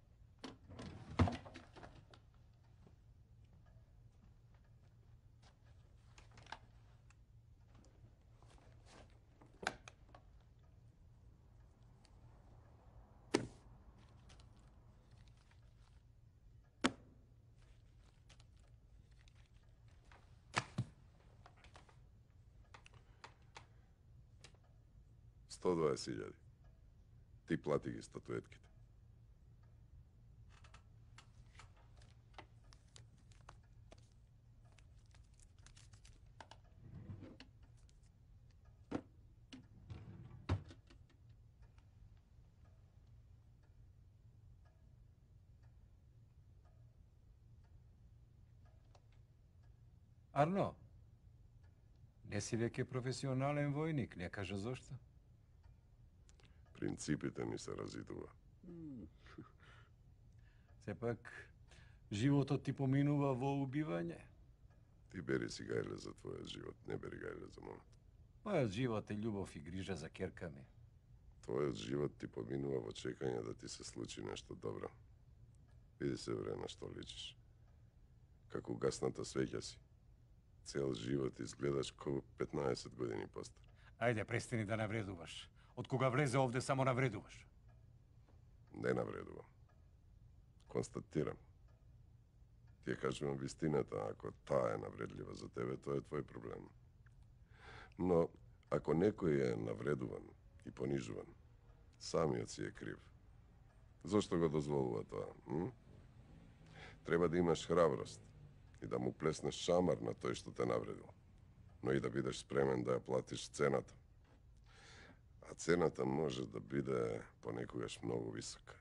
сто дваесет илјади. Ти плати ги статуетките. Арно, не си веќе професионален војник, не кажа зошто. Принципите ми се разидува. Сепак, животот ти поминува во убивање. Ти бери си гајле за твојот живот, не бери гајле за мојот. Мојот живот е љубов и грижа за ќерка ми. Твојот живот ти поминува во чекање да ти се случи нешто добро. Види се вре на што личиш. Како гасната свеќа си. Цел живот изгледаш како петнаесет години постар. Ајде, престани да навредуваш. Од кога влезе овде само навредуваш. Не навредувам. Констатирам. Ти ја кажувам вистината, ако таа е навредлива за тебе, тоа е твој проблем. Но, ако некој е навредуван и понижуван, самиот си е крив. Зошто го дозволува тоа? М? Треба да имаш храброст и да му плеснеш шамар на тој што те навредил, но и да бидеш спремен да ја платиш цената. А цената може да биде понекогаш многу висока.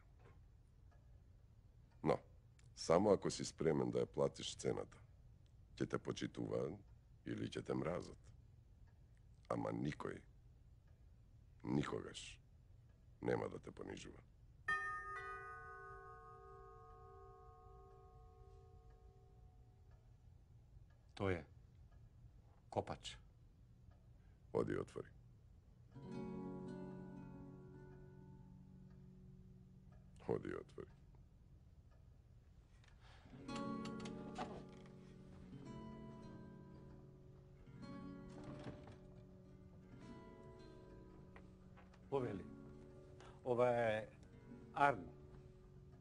Но, само ако си спремен да ја платиш цената, ќе те почитуваат или ќе те мразат. Ама никој, никогаш, нема да те понижува. Тој е Копач. Оди отвори. Оди отвори. Повели. Ова е Арно.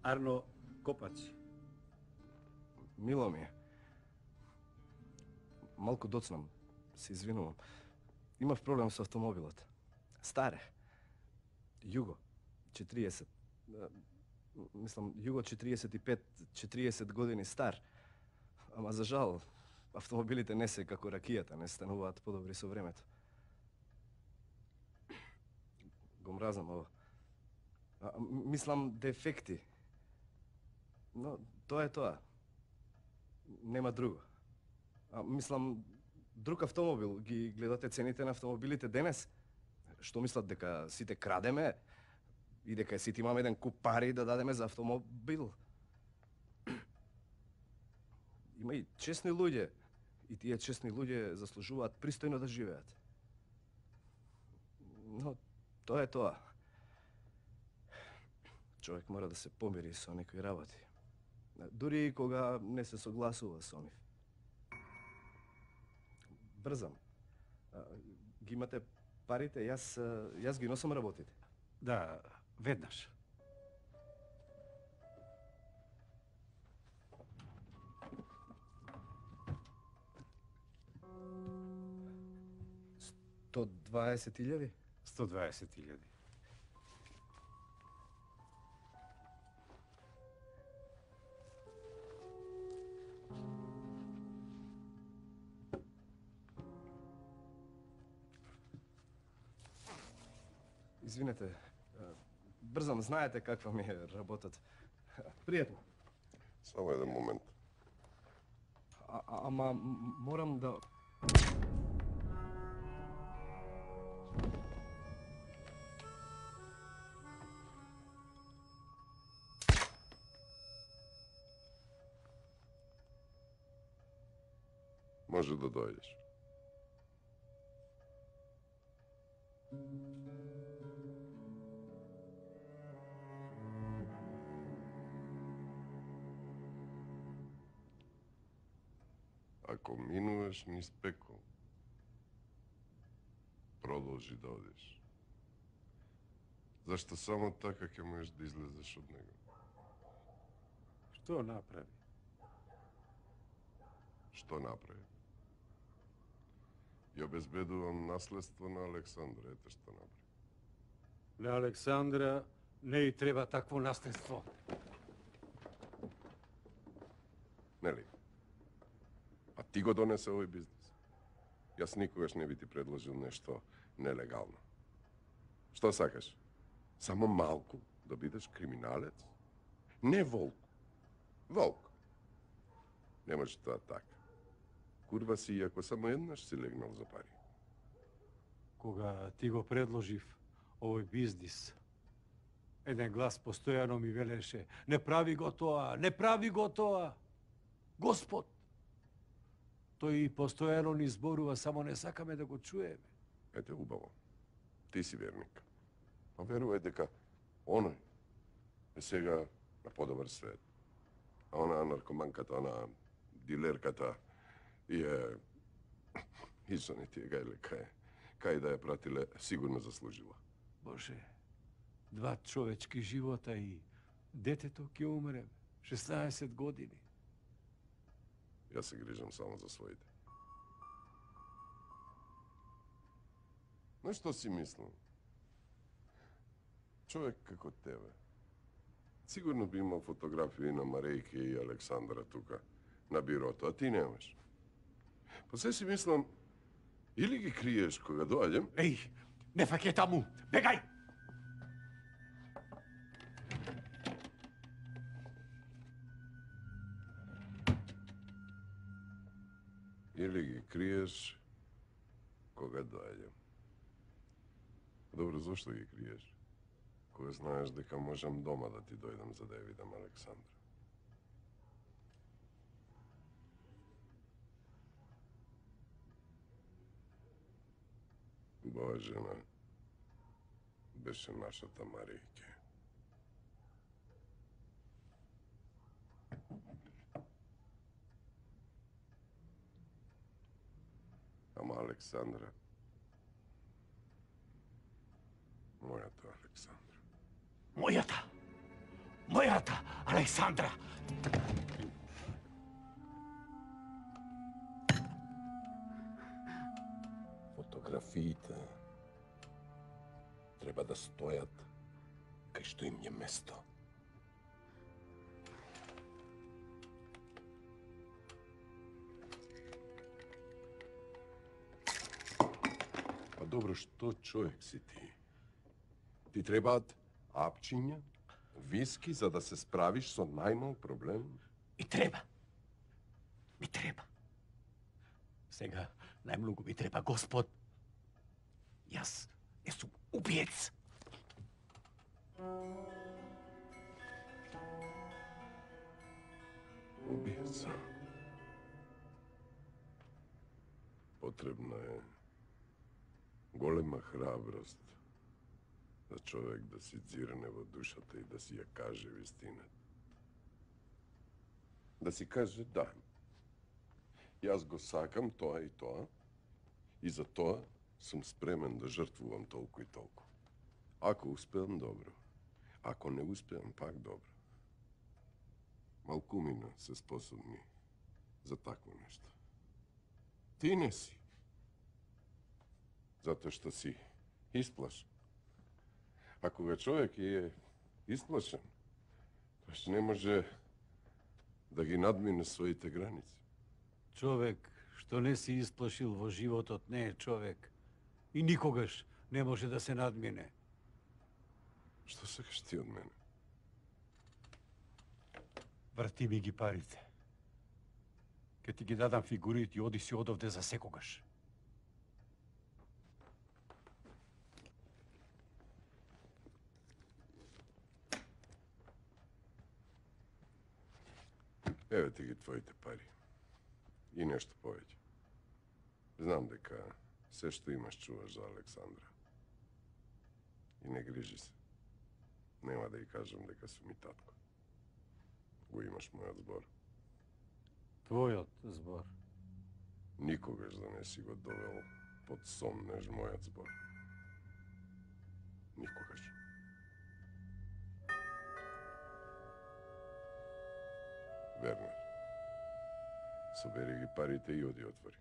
Арно Копач. Мило ми е. Малку доцнам, се извинувам. Имав проблем со автомобилот. Стар е. Југо, четириесет. Мислам, Југо четириесет и пет, четириесет години стар. Ама за жал, автомобилите не се како ракијата, не стануваат подобри со времето. Го мразам ова. А, мислам, дефекти. Но, тоа е тоа. Нема друго. А, мислам, друг автомобил. Ги гледате цените на автомобилите денес? Што мислат, дека сите крадеме? И дека сите имаме еден куп пари да дадеме за автомобил? Има и честни луѓе. И тие честни луѓе заслужуваат пристојно да живеат. Но тоа е тоа. Човек мора да се помири со некои работи. Дури и кога не се согласува со нив. Брзам. Ги имате парите, јас, јас ги носам работите. Да, веднаш. сто дваесет илјади? сто дваесет илјади. Извинете, брзам, знаете каква ми е работата. Пријатно. Само еден момент. А, ама морам да... Може да дојдеш. Ако минуваш низ пекол, продолжи да одиш. Зашто само така ќе можеш да излезеш од него? Што направи? Што направи? Ја обезбедувам наследство на Александра, ете што направи. На Александра не и треба такво наследство. Нели? А ти го донесе овој бизнес. Јас никогаш не би ти предложил нешто нелегално. Што сакаш? Само малку да бидеш криминалец? Не волк. Волк. Не може тоа така. Курва си, иако само еднаш си легнал за пари. Кога ти го предложив овој бизнис, еден глас постојано ми велеше: не прави го тоа, не прави го тоа. Господ! Тој и постојано ни зборува, само не сакаме да го чуеме. Ете, убаво. Ти си верник. А верувај дека оној е сега на подобар свет. А она наркоманката, она дилерката и е... Ишто не ти е гајле кај, кај да ја пратиле, сигурно заслужила. Боже, два човечки живота и детето ќе умре. шеснаесет години. Јас се грижам само за своите. Но што си мислам? Човек како тебе. Сигурно би имал фотографии на Марејке и Александра тука, на бирото, а ти немаш. Па се си мислам, или ги криеш кога доаѓам... Еј, не фаќај таму, бегај! Или ги криеш кога доаѓам. Добро, зошто ги криеш? Кога знаеш дека можам дома да ти дојдам за да ја видам Александра. Убава жена беше нашата Маријке. Ама Александра, мојата Александра. Мојата! Мојата Александра! Фотографиите треба да стојат кај што им е место. Па добро, што човек си ти? Ти требаат апчиња, виски, за да се справиш со најмал проблем? И треба. Ми треба. Сега најмногу ми треба Господ. Јас не сум убиец. Убиец. Потребна е голема храброст за човек да си дзирне во душата и да си ја каже вистината. Да си каже да. Јас го сакам тоа и тоа и за тоа сум спремен да жртвувам толку и толку. Ако успеам, добро. Ако не успеам, пак добро. Малкумина се способни за такво нешто. Ти не си. Затоа што си исплашен. А кога човек е исплашен, тоаш не може да ги надмине своите граници. Човек што не си исплашил во животот не е човек и никогаш не може да се надмине. Што сакаш ти од мене? Врати ми ги парите. Ке ти ги дадам фигурите и оди си одовде за секогаш. Еве ти ги твоите пари. И нешто повеќе. Знам дека се што имаш чуваш за Александра. И не грижи се. Нема да ја кажам дека сум и татко. Го имаш мојот збор. Твојот збор. Никогаш да не си го довел под сомнеж мојот збор. Никогаш. Вернер, собери ги парите и оди отвори.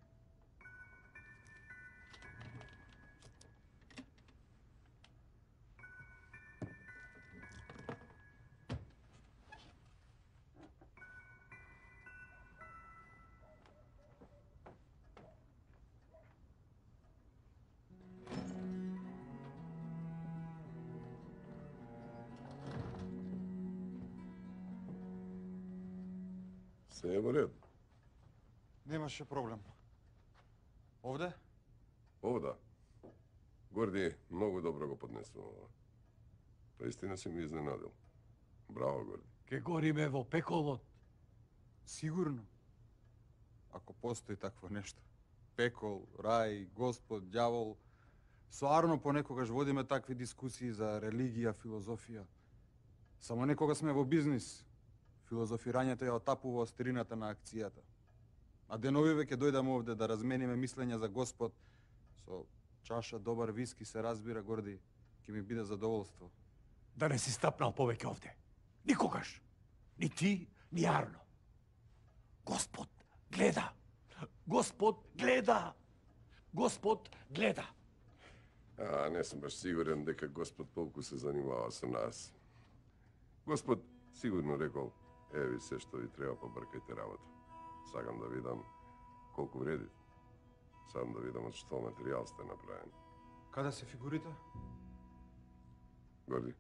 Се е во ред. Немаше проблем. Овде? Овда. Горди многу добро го поднесува ова. Наистина си ми изненадил. Браво, Горди. Ке гориме во пеколот. Сигурно. Ако постои такво нешто. Пекол, рај, Господ, ѓавол. Соарно понекогаш водиме такви дискусии за религија, филозофија. Само некога сме во бизнис. Филозофирањето ја отапува острината на акцијата. А деновиве ќе дојдеме овде да размениме мислења за Господ. Со чаша добар виски се разбира, Горди, ќе ми биде задоволство. Да не си стапнал повеќе овде. Никогаш. Ни ти, ни Арно. Господ гледа. Господ гледа. Господ гледа. А, не сум баш сигурен дека Господ толку се занимава со нас. Господ сигурно рекол, еви се што ви треба, побркајте работа. Сакам да видам колку вреди. Сакам да видам од што материјал сте направени. Каде се фигурите? Горди.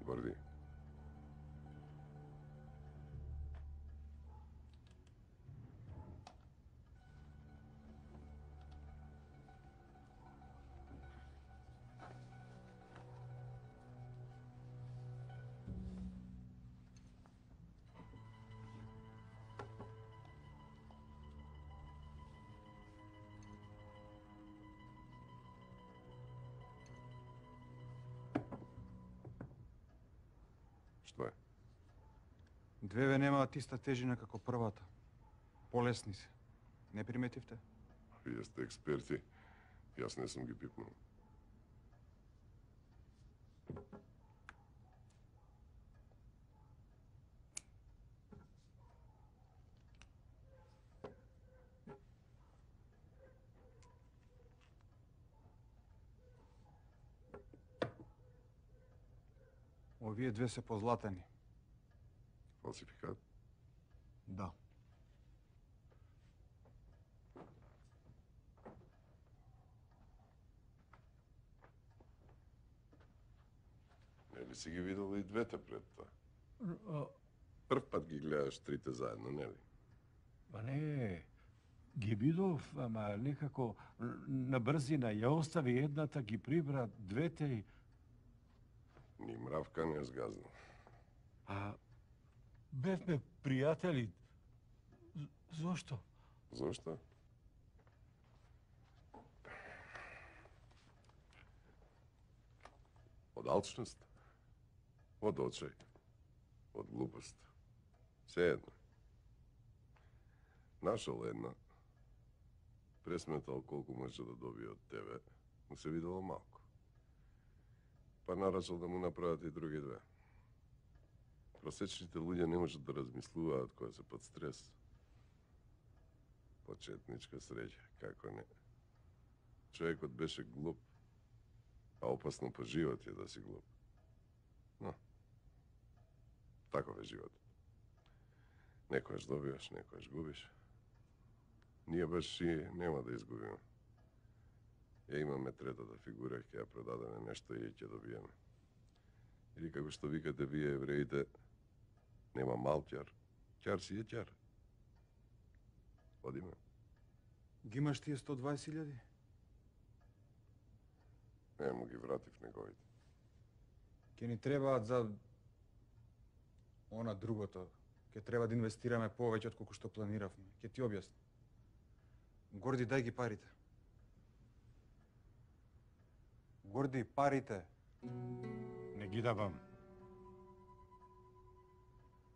Горди. Што е? Двеве немаат иста тежина како првата. Полесни се. Не приметивте? Вие сте експерти. Јас не сум ги пипнал. Овие две се позлатени. Фалсификат? Да. Нели си ги видел и двете пред тоа? Прв пат ги гледаш трите заедно, нели? Па не, ги видов, ама некако на брзина ја остави едната, ги прибра двете и... Ни мравка не згазнал. А бевме пријатели. Зошто? Зошто? Од алчност, од очај, од глупост. Се едно. Нашол една, пресметал колку може да добие од тебе, му се видело малку. Па нарачал да му направат и други две. Просечните луѓе не можат да размислуваат кога се под стрес. Почетничка среќа, како не. Човекот беше глуп, а опасно по живот е да си глуп. Но, таков е животот. Некојаш добиваш, некојаш губиш. Ние баш и нема да изгубиме. Ја имаме третата фигура, ќе ја продадеме нешто и ќе добиеме. Или како што викате вие евреите, нема мал ќар, ќар си е ќар. Одиме. Ги имаш тие сто дваесет илјади? Не, му ги вратив неговите. Ке ни требаат за она другото. Ке треба да инвестираме повеќе од колку што планиравме. Ке ти објасни. Горди, дај ги парите. Горди, парите. Не ги давам.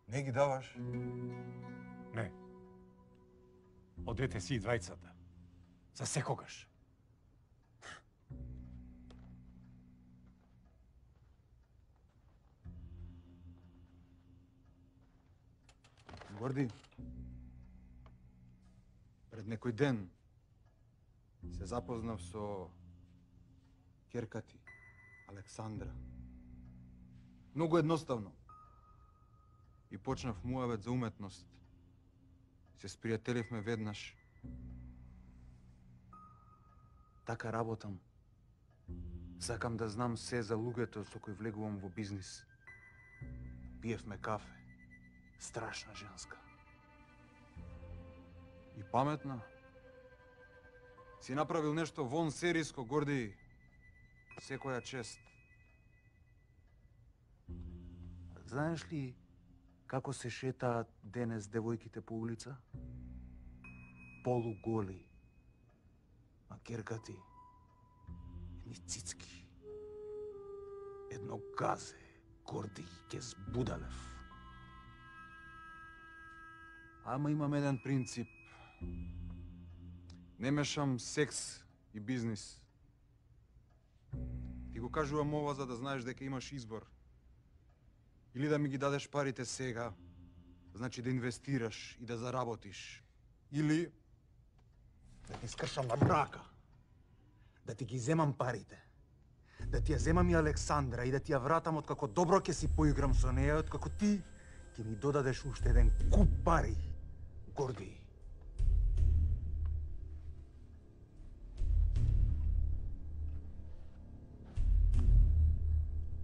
Не ги даваш? Не. Одете си и двајцата. За секогаш. Горди, пред некој ден се запознав со ќерка ти, Александра. Многу едноставно. И почнав муавет за уметност. Се спријателивме веднаш. Така работам. Сакам да знам се за луѓето со кои влегувам во бизнис. Пиевме кафе. Страшна женска. И паметна. Си направил нешто вон сериско, Горди. Секоја чест. Знаеш ли како се шетаат денес девојките по улица? Полуголи. А керка ти, едни цицки. Едно газе, Горди, ке збудалев. Ама имам еден принцип. Не мешам секс и бизнис. Ти го кажувам ова за да знаеш дека имаш избор. Или да ми ги дадеш парите сега, значи да инвестираш и да заработиш. Или да ти скршам на мрака, да ти ги земам парите, да ти ја земам и Александра и да ти ја вратам откако добро ќе си поиграм со неја, откако ти ќе ми додадеш уште еден куп пари, Горди.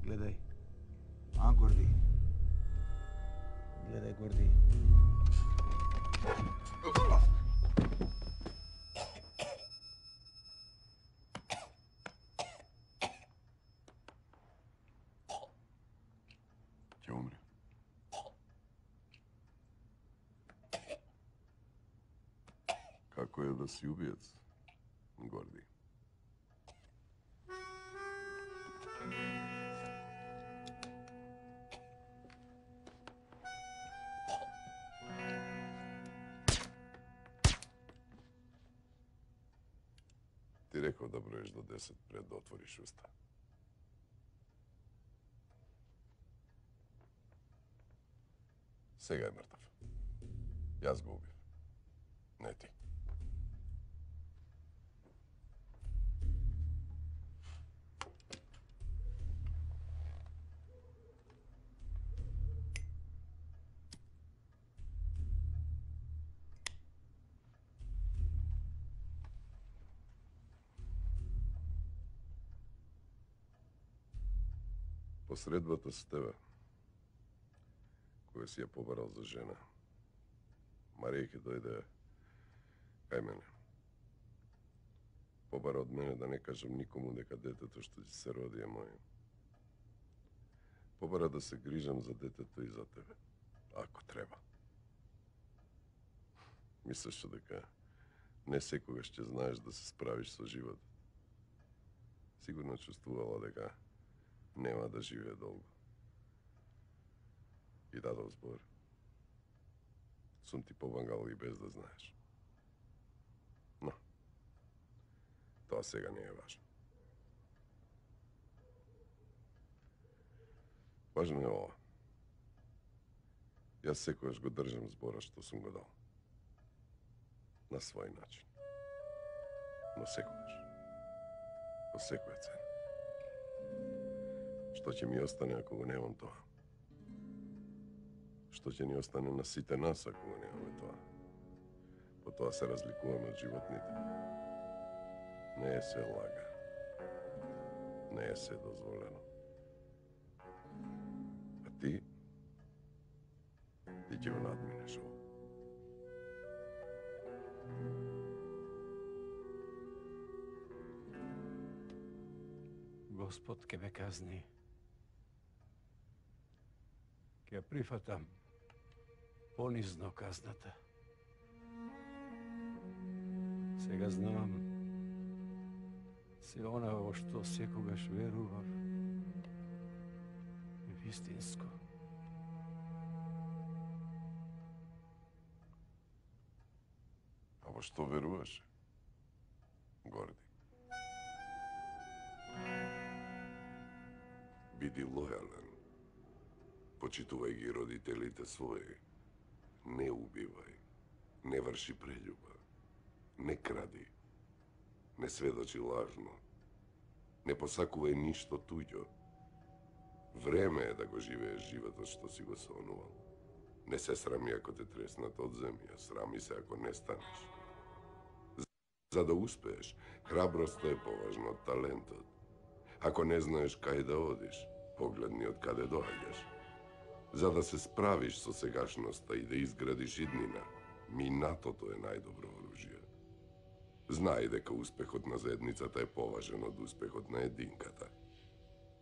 Гледај. А, Горди? Гледај, Горди. Ќе умре. Како е да си убиец, Горди? Ти реков да броиш до десет пред да отвориш уста. Сега е мртав. Јас го убив. Не ти. средбата с тебе, која си ја побарал за жена, Марија ќе дојде кај мене. Побара од мене да не кажам никому дека детето што ќе се роди е моје. Побара да се грижам за детето и за тебе, ако треба. Мислиш дека не секогаш ќе знаеш да се справиш со живот. Сигурно чувствувала дека нема да живее долго. И дадов збор. Сум ти помагал и без да знаеш. Но, тоа сега не е важно. Важно е ова. Јас секојаш го држам збора што сум го дал. На свој начин. Но секојаш. По секоја цена. Што ќе ми остане ако го немам тоа? Што ќе ни остане на сите нас ако го немаме тоа? По тоа се разликуваме од животните. Не е се лага. Не е се дозволено. А ти, ти ќе го надминеш ово. Господ ке ме казни. Ке ја прифатам понизно казната. Сега знам се она во што секогаш верував вистинско. А во што веруваш? Горди. Биди лојален. Почитувај ги родителите своји. Не убивај. Не врши прељуба. Не кради. Не сведочи лажно. Не посакувај ништо туѓо. Време е да го живееш животот што си го сонувал. Не се срами ако те треснат од земја, срами се ако не станеш. За да успееш, храброста е поважна од талентот. Ако не знаеш кај да одиш, погледни од каде доаѓаш. За да се справиш со сегашноста и да изградиш иднина, минатото е најдобро оружје. Знај дека успехот на заедницата е поважен од успехот на единката.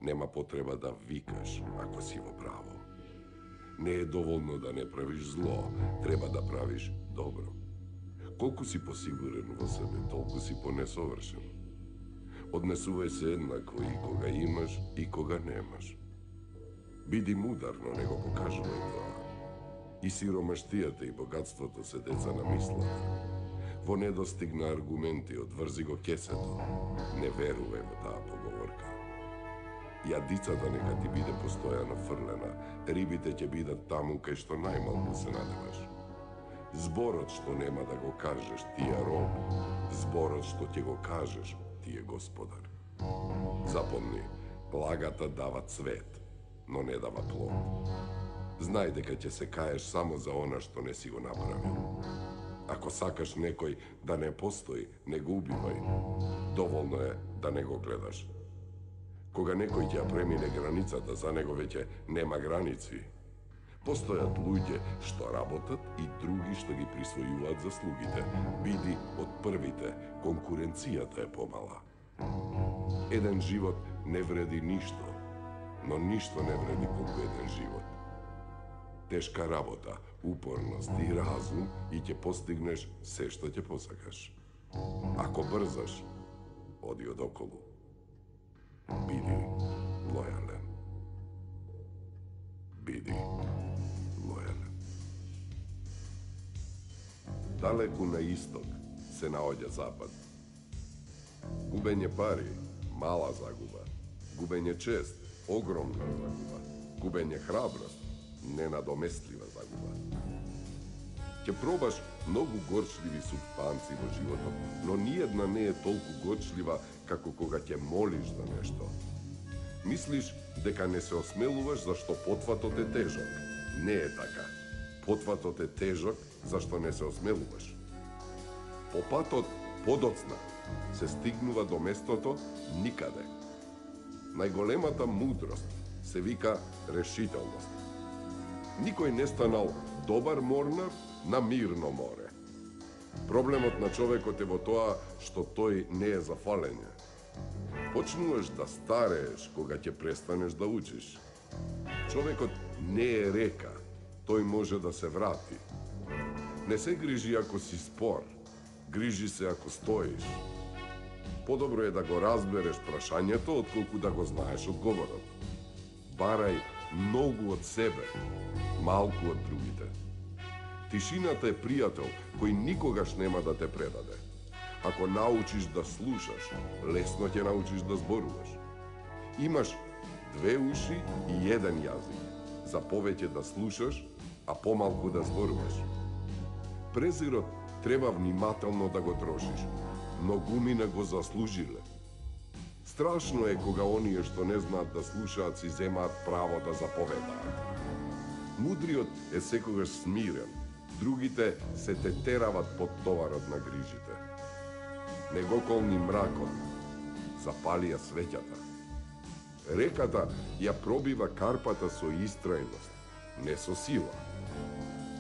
Нема потреба да викаш ако си во право. Не е доволно да не правиш зло, треба да правиш добро. Колку си посигурен во себе, толку си понесовршен. Однесувај се еднакво и кога имаш и кога немаш. Биди мудар, но не го покажувај тоа. И сиромаштијата и богатството се деца на мислата. Во недостиг на аргументи одврзи го кесето. Не верувај во таа поговорка. Јадицата нека ти биде постојано фрлена, рибите ќе бидат таму кај што најмалку се надеваш. Зборот што нема да го кажеш ти е роб, зборот што ќе го кажеш ти е господар. Запомни, лагата дава цвет, но не дава плод. Знај дека ќе се каеш само за она што не си го направил. Ако сакаш некој да не постои, не го убивај. Доволно е да не го гледаш. Кога некој ќе ја премине границата, за него веќе нема граници. Постојат луѓе што работат и други што ги присвојуваат заслугите. Биди од првите, конкуренцијата е помала. Еден живот не вреди ништо, но ништо не вреди колку еден живот. Тешка работа, упорност и разум и ќе постигнеш се што ќе посакаш. Ако брзаш, оди од околу. Биди лојален. Биди лојален. Далеку на исток се наоѓа запад. Губење пари, мала загуба. Губење чест, огромна загуба. Губење храброст, ненадоместлива загуба. Ќе пробаш многу горчливи супстанци во животот, но ниедна не е толку горчлива како кога ќе молиш за нешто. Мислиш дека не се осмелуваш зашто потватот е тежок. Не е така. Потватот е тежок зашто не се осмелуваш. По патот подоцна се стигнува до местото никаде. Најголемата мудрост се вика решителност. Никој не станал добар морнар на мирно море. Проблемот на човекот е во тоа што тој не е за фалење. Почнуваш да старееш кога ќе престанеш да учиш. Човекот не е река, тој може да се врати. Не се грижи ако си спор, грижи се ако стоиш. Подобро е да го разбереш прашањето, отколку да го знаеш одговорот. Барај многу од себе, малку од другите. Тишината е пријател кој никогаш нема да те предаде. Ако научиш да слушаш, лесно ќе научиш да зборуваш. Имаш две уши и еден јазик. За повеќе да слушаш, а помалку да зборуваш. Презирот треба внимателно да го трошиш. Многумина го заслужиле. Страшно е кога оние што не знаат да слушаат си земаат право да заповедаат. Мудриот е секогаш смирен, другите се те терават под товарот на грижите. Не го колни мракот, запали ја светјата. Реката ја пробива карпата со истрајност, не со сила.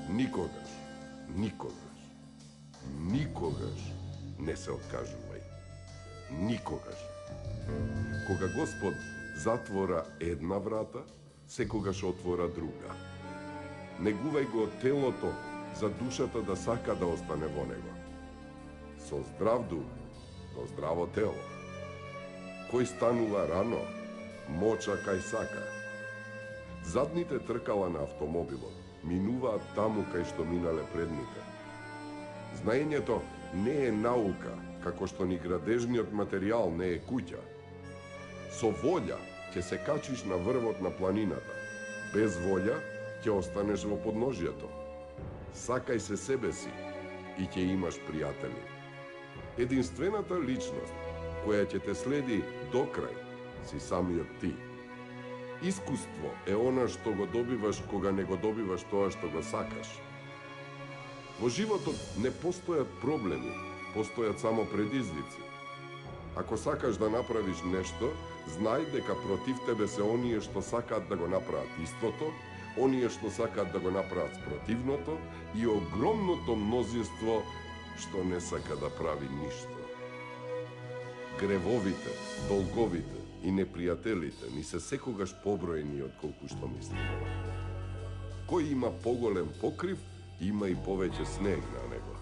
Никогаш, никогаш, никогаш не се откажувај. Никогаш. Кога Господ затвора една врата, секогаш отвора друга. Негувај го телото за душата да сака да остане во него. Со здрав дух, но здраво тело. Кој станува рано, моча кај сака. Задните тркала на автомобилот минуваат таму кај што минале предните. Знаењето не е наука, како што ни градежниот материјал не е куќа. Со волја ќе се качиш на врвот на планината. Без волја ќе останеш во подножјето. Сакај се себе си и ќе имаш пријатели. Единствената личност која ќе те следи до крај си самиот ти. Искуство е она што го добиваш кога не го добиваш тоа што го сакаш. Во животот не постојат проблеми, постојат само предизвици. Ако сакаш да направиш нешто, знај дека против тебе се оние што сакаат да го направат истото, оние што сакаат да го направат спротивното и огромното мнозинство што не сака да прави ништо. Гревовите, долговите и непријателите ни се секогаш поброени од колку што мислиме. Кој има поголем покрив, има и повеќе снег на него.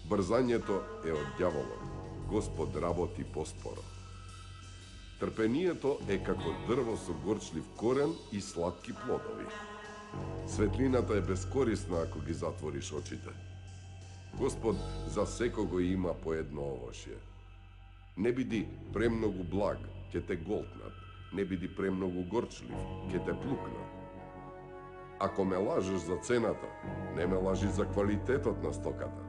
Брзањето е од ѓаволот. Господ работи поспоро. Трпението е како дрво со горчлив корен и сладки плодови. Светлината е бескорисна ако ги затвориш очите. Господ за секого има по едно овошје. Не биди премногу благ, ќе те голтнат. Не биди премногу горчлив, ќе те плукнат. Ако ме лажеш за цената, не ме лажи за квалитетот на стоката.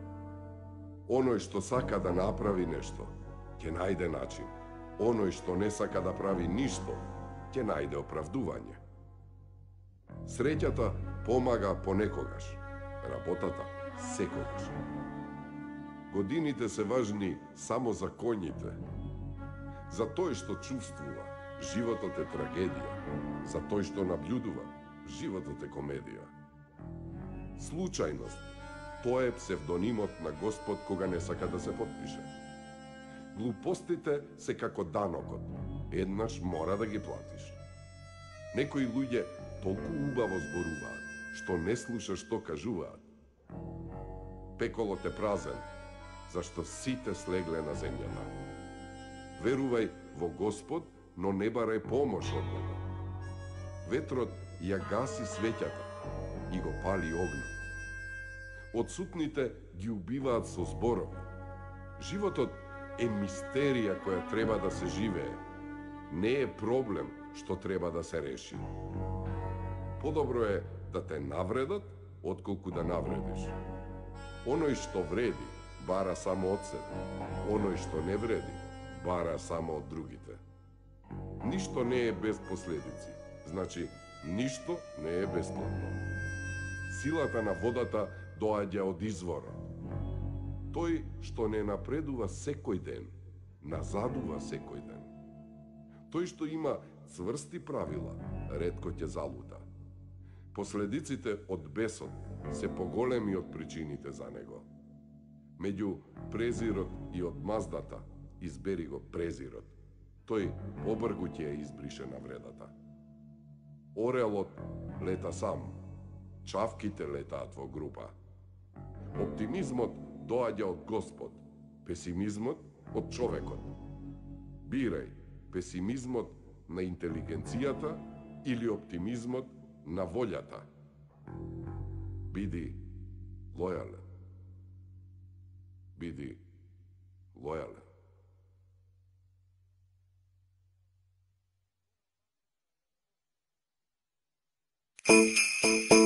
Оној што сака да направи нешто, ќе најде начин. Оној што не сака да прави ништо, ќе најде оправдување. Среќата помага понекогаш, работата секогаш. Годините се важни само за коњите. За тој што чувствува, животот е трагедија. За тој што наблюдува, животот е комедија. Случајност, тоа е псевдонимот на Господ кога не сака да се подпише. Глупостите се како данокот. Еднаш мора да ги платиш. Некои луѓе толку убаво зборуваат, што не слушаш што кажуваат. Пеколот е празен, зашто сите слегле на земјата. Верувај во Господ, но не барај помош од Него. Ветрот ја гаси светјата и го пали огнот. Одсутните ги убиваат со зборови. Животот е мистерија која треба да се живее. Не е проблем што треба да се реши. Подобро е да те навредат, отколку да навредиш. Оној што вреди, бара само од себе. Оној што не вреди, бара само од другите. Ништо не е без последици. Значи, ништо не е бесплатно. Силата на водата доаѓа од изворот. Тој што не напредува секој ден, назадува секој ден. Тој што има цврсти правила, ретко ќе залута. Последиците од бесот се поголеми од причините за него. Меѓу презирот и одмаздата, избери го презирот. Тој побргу ќе ја избрише навредата. Орелот лета сам, чавките летаат во група. Оптимизмот доаѓа од Господ, песимизмот од човекот. Бирај песимизмот на интелигенцијата или оптимизмот на волјата. Биди лојален. Биди лојален. Thank you.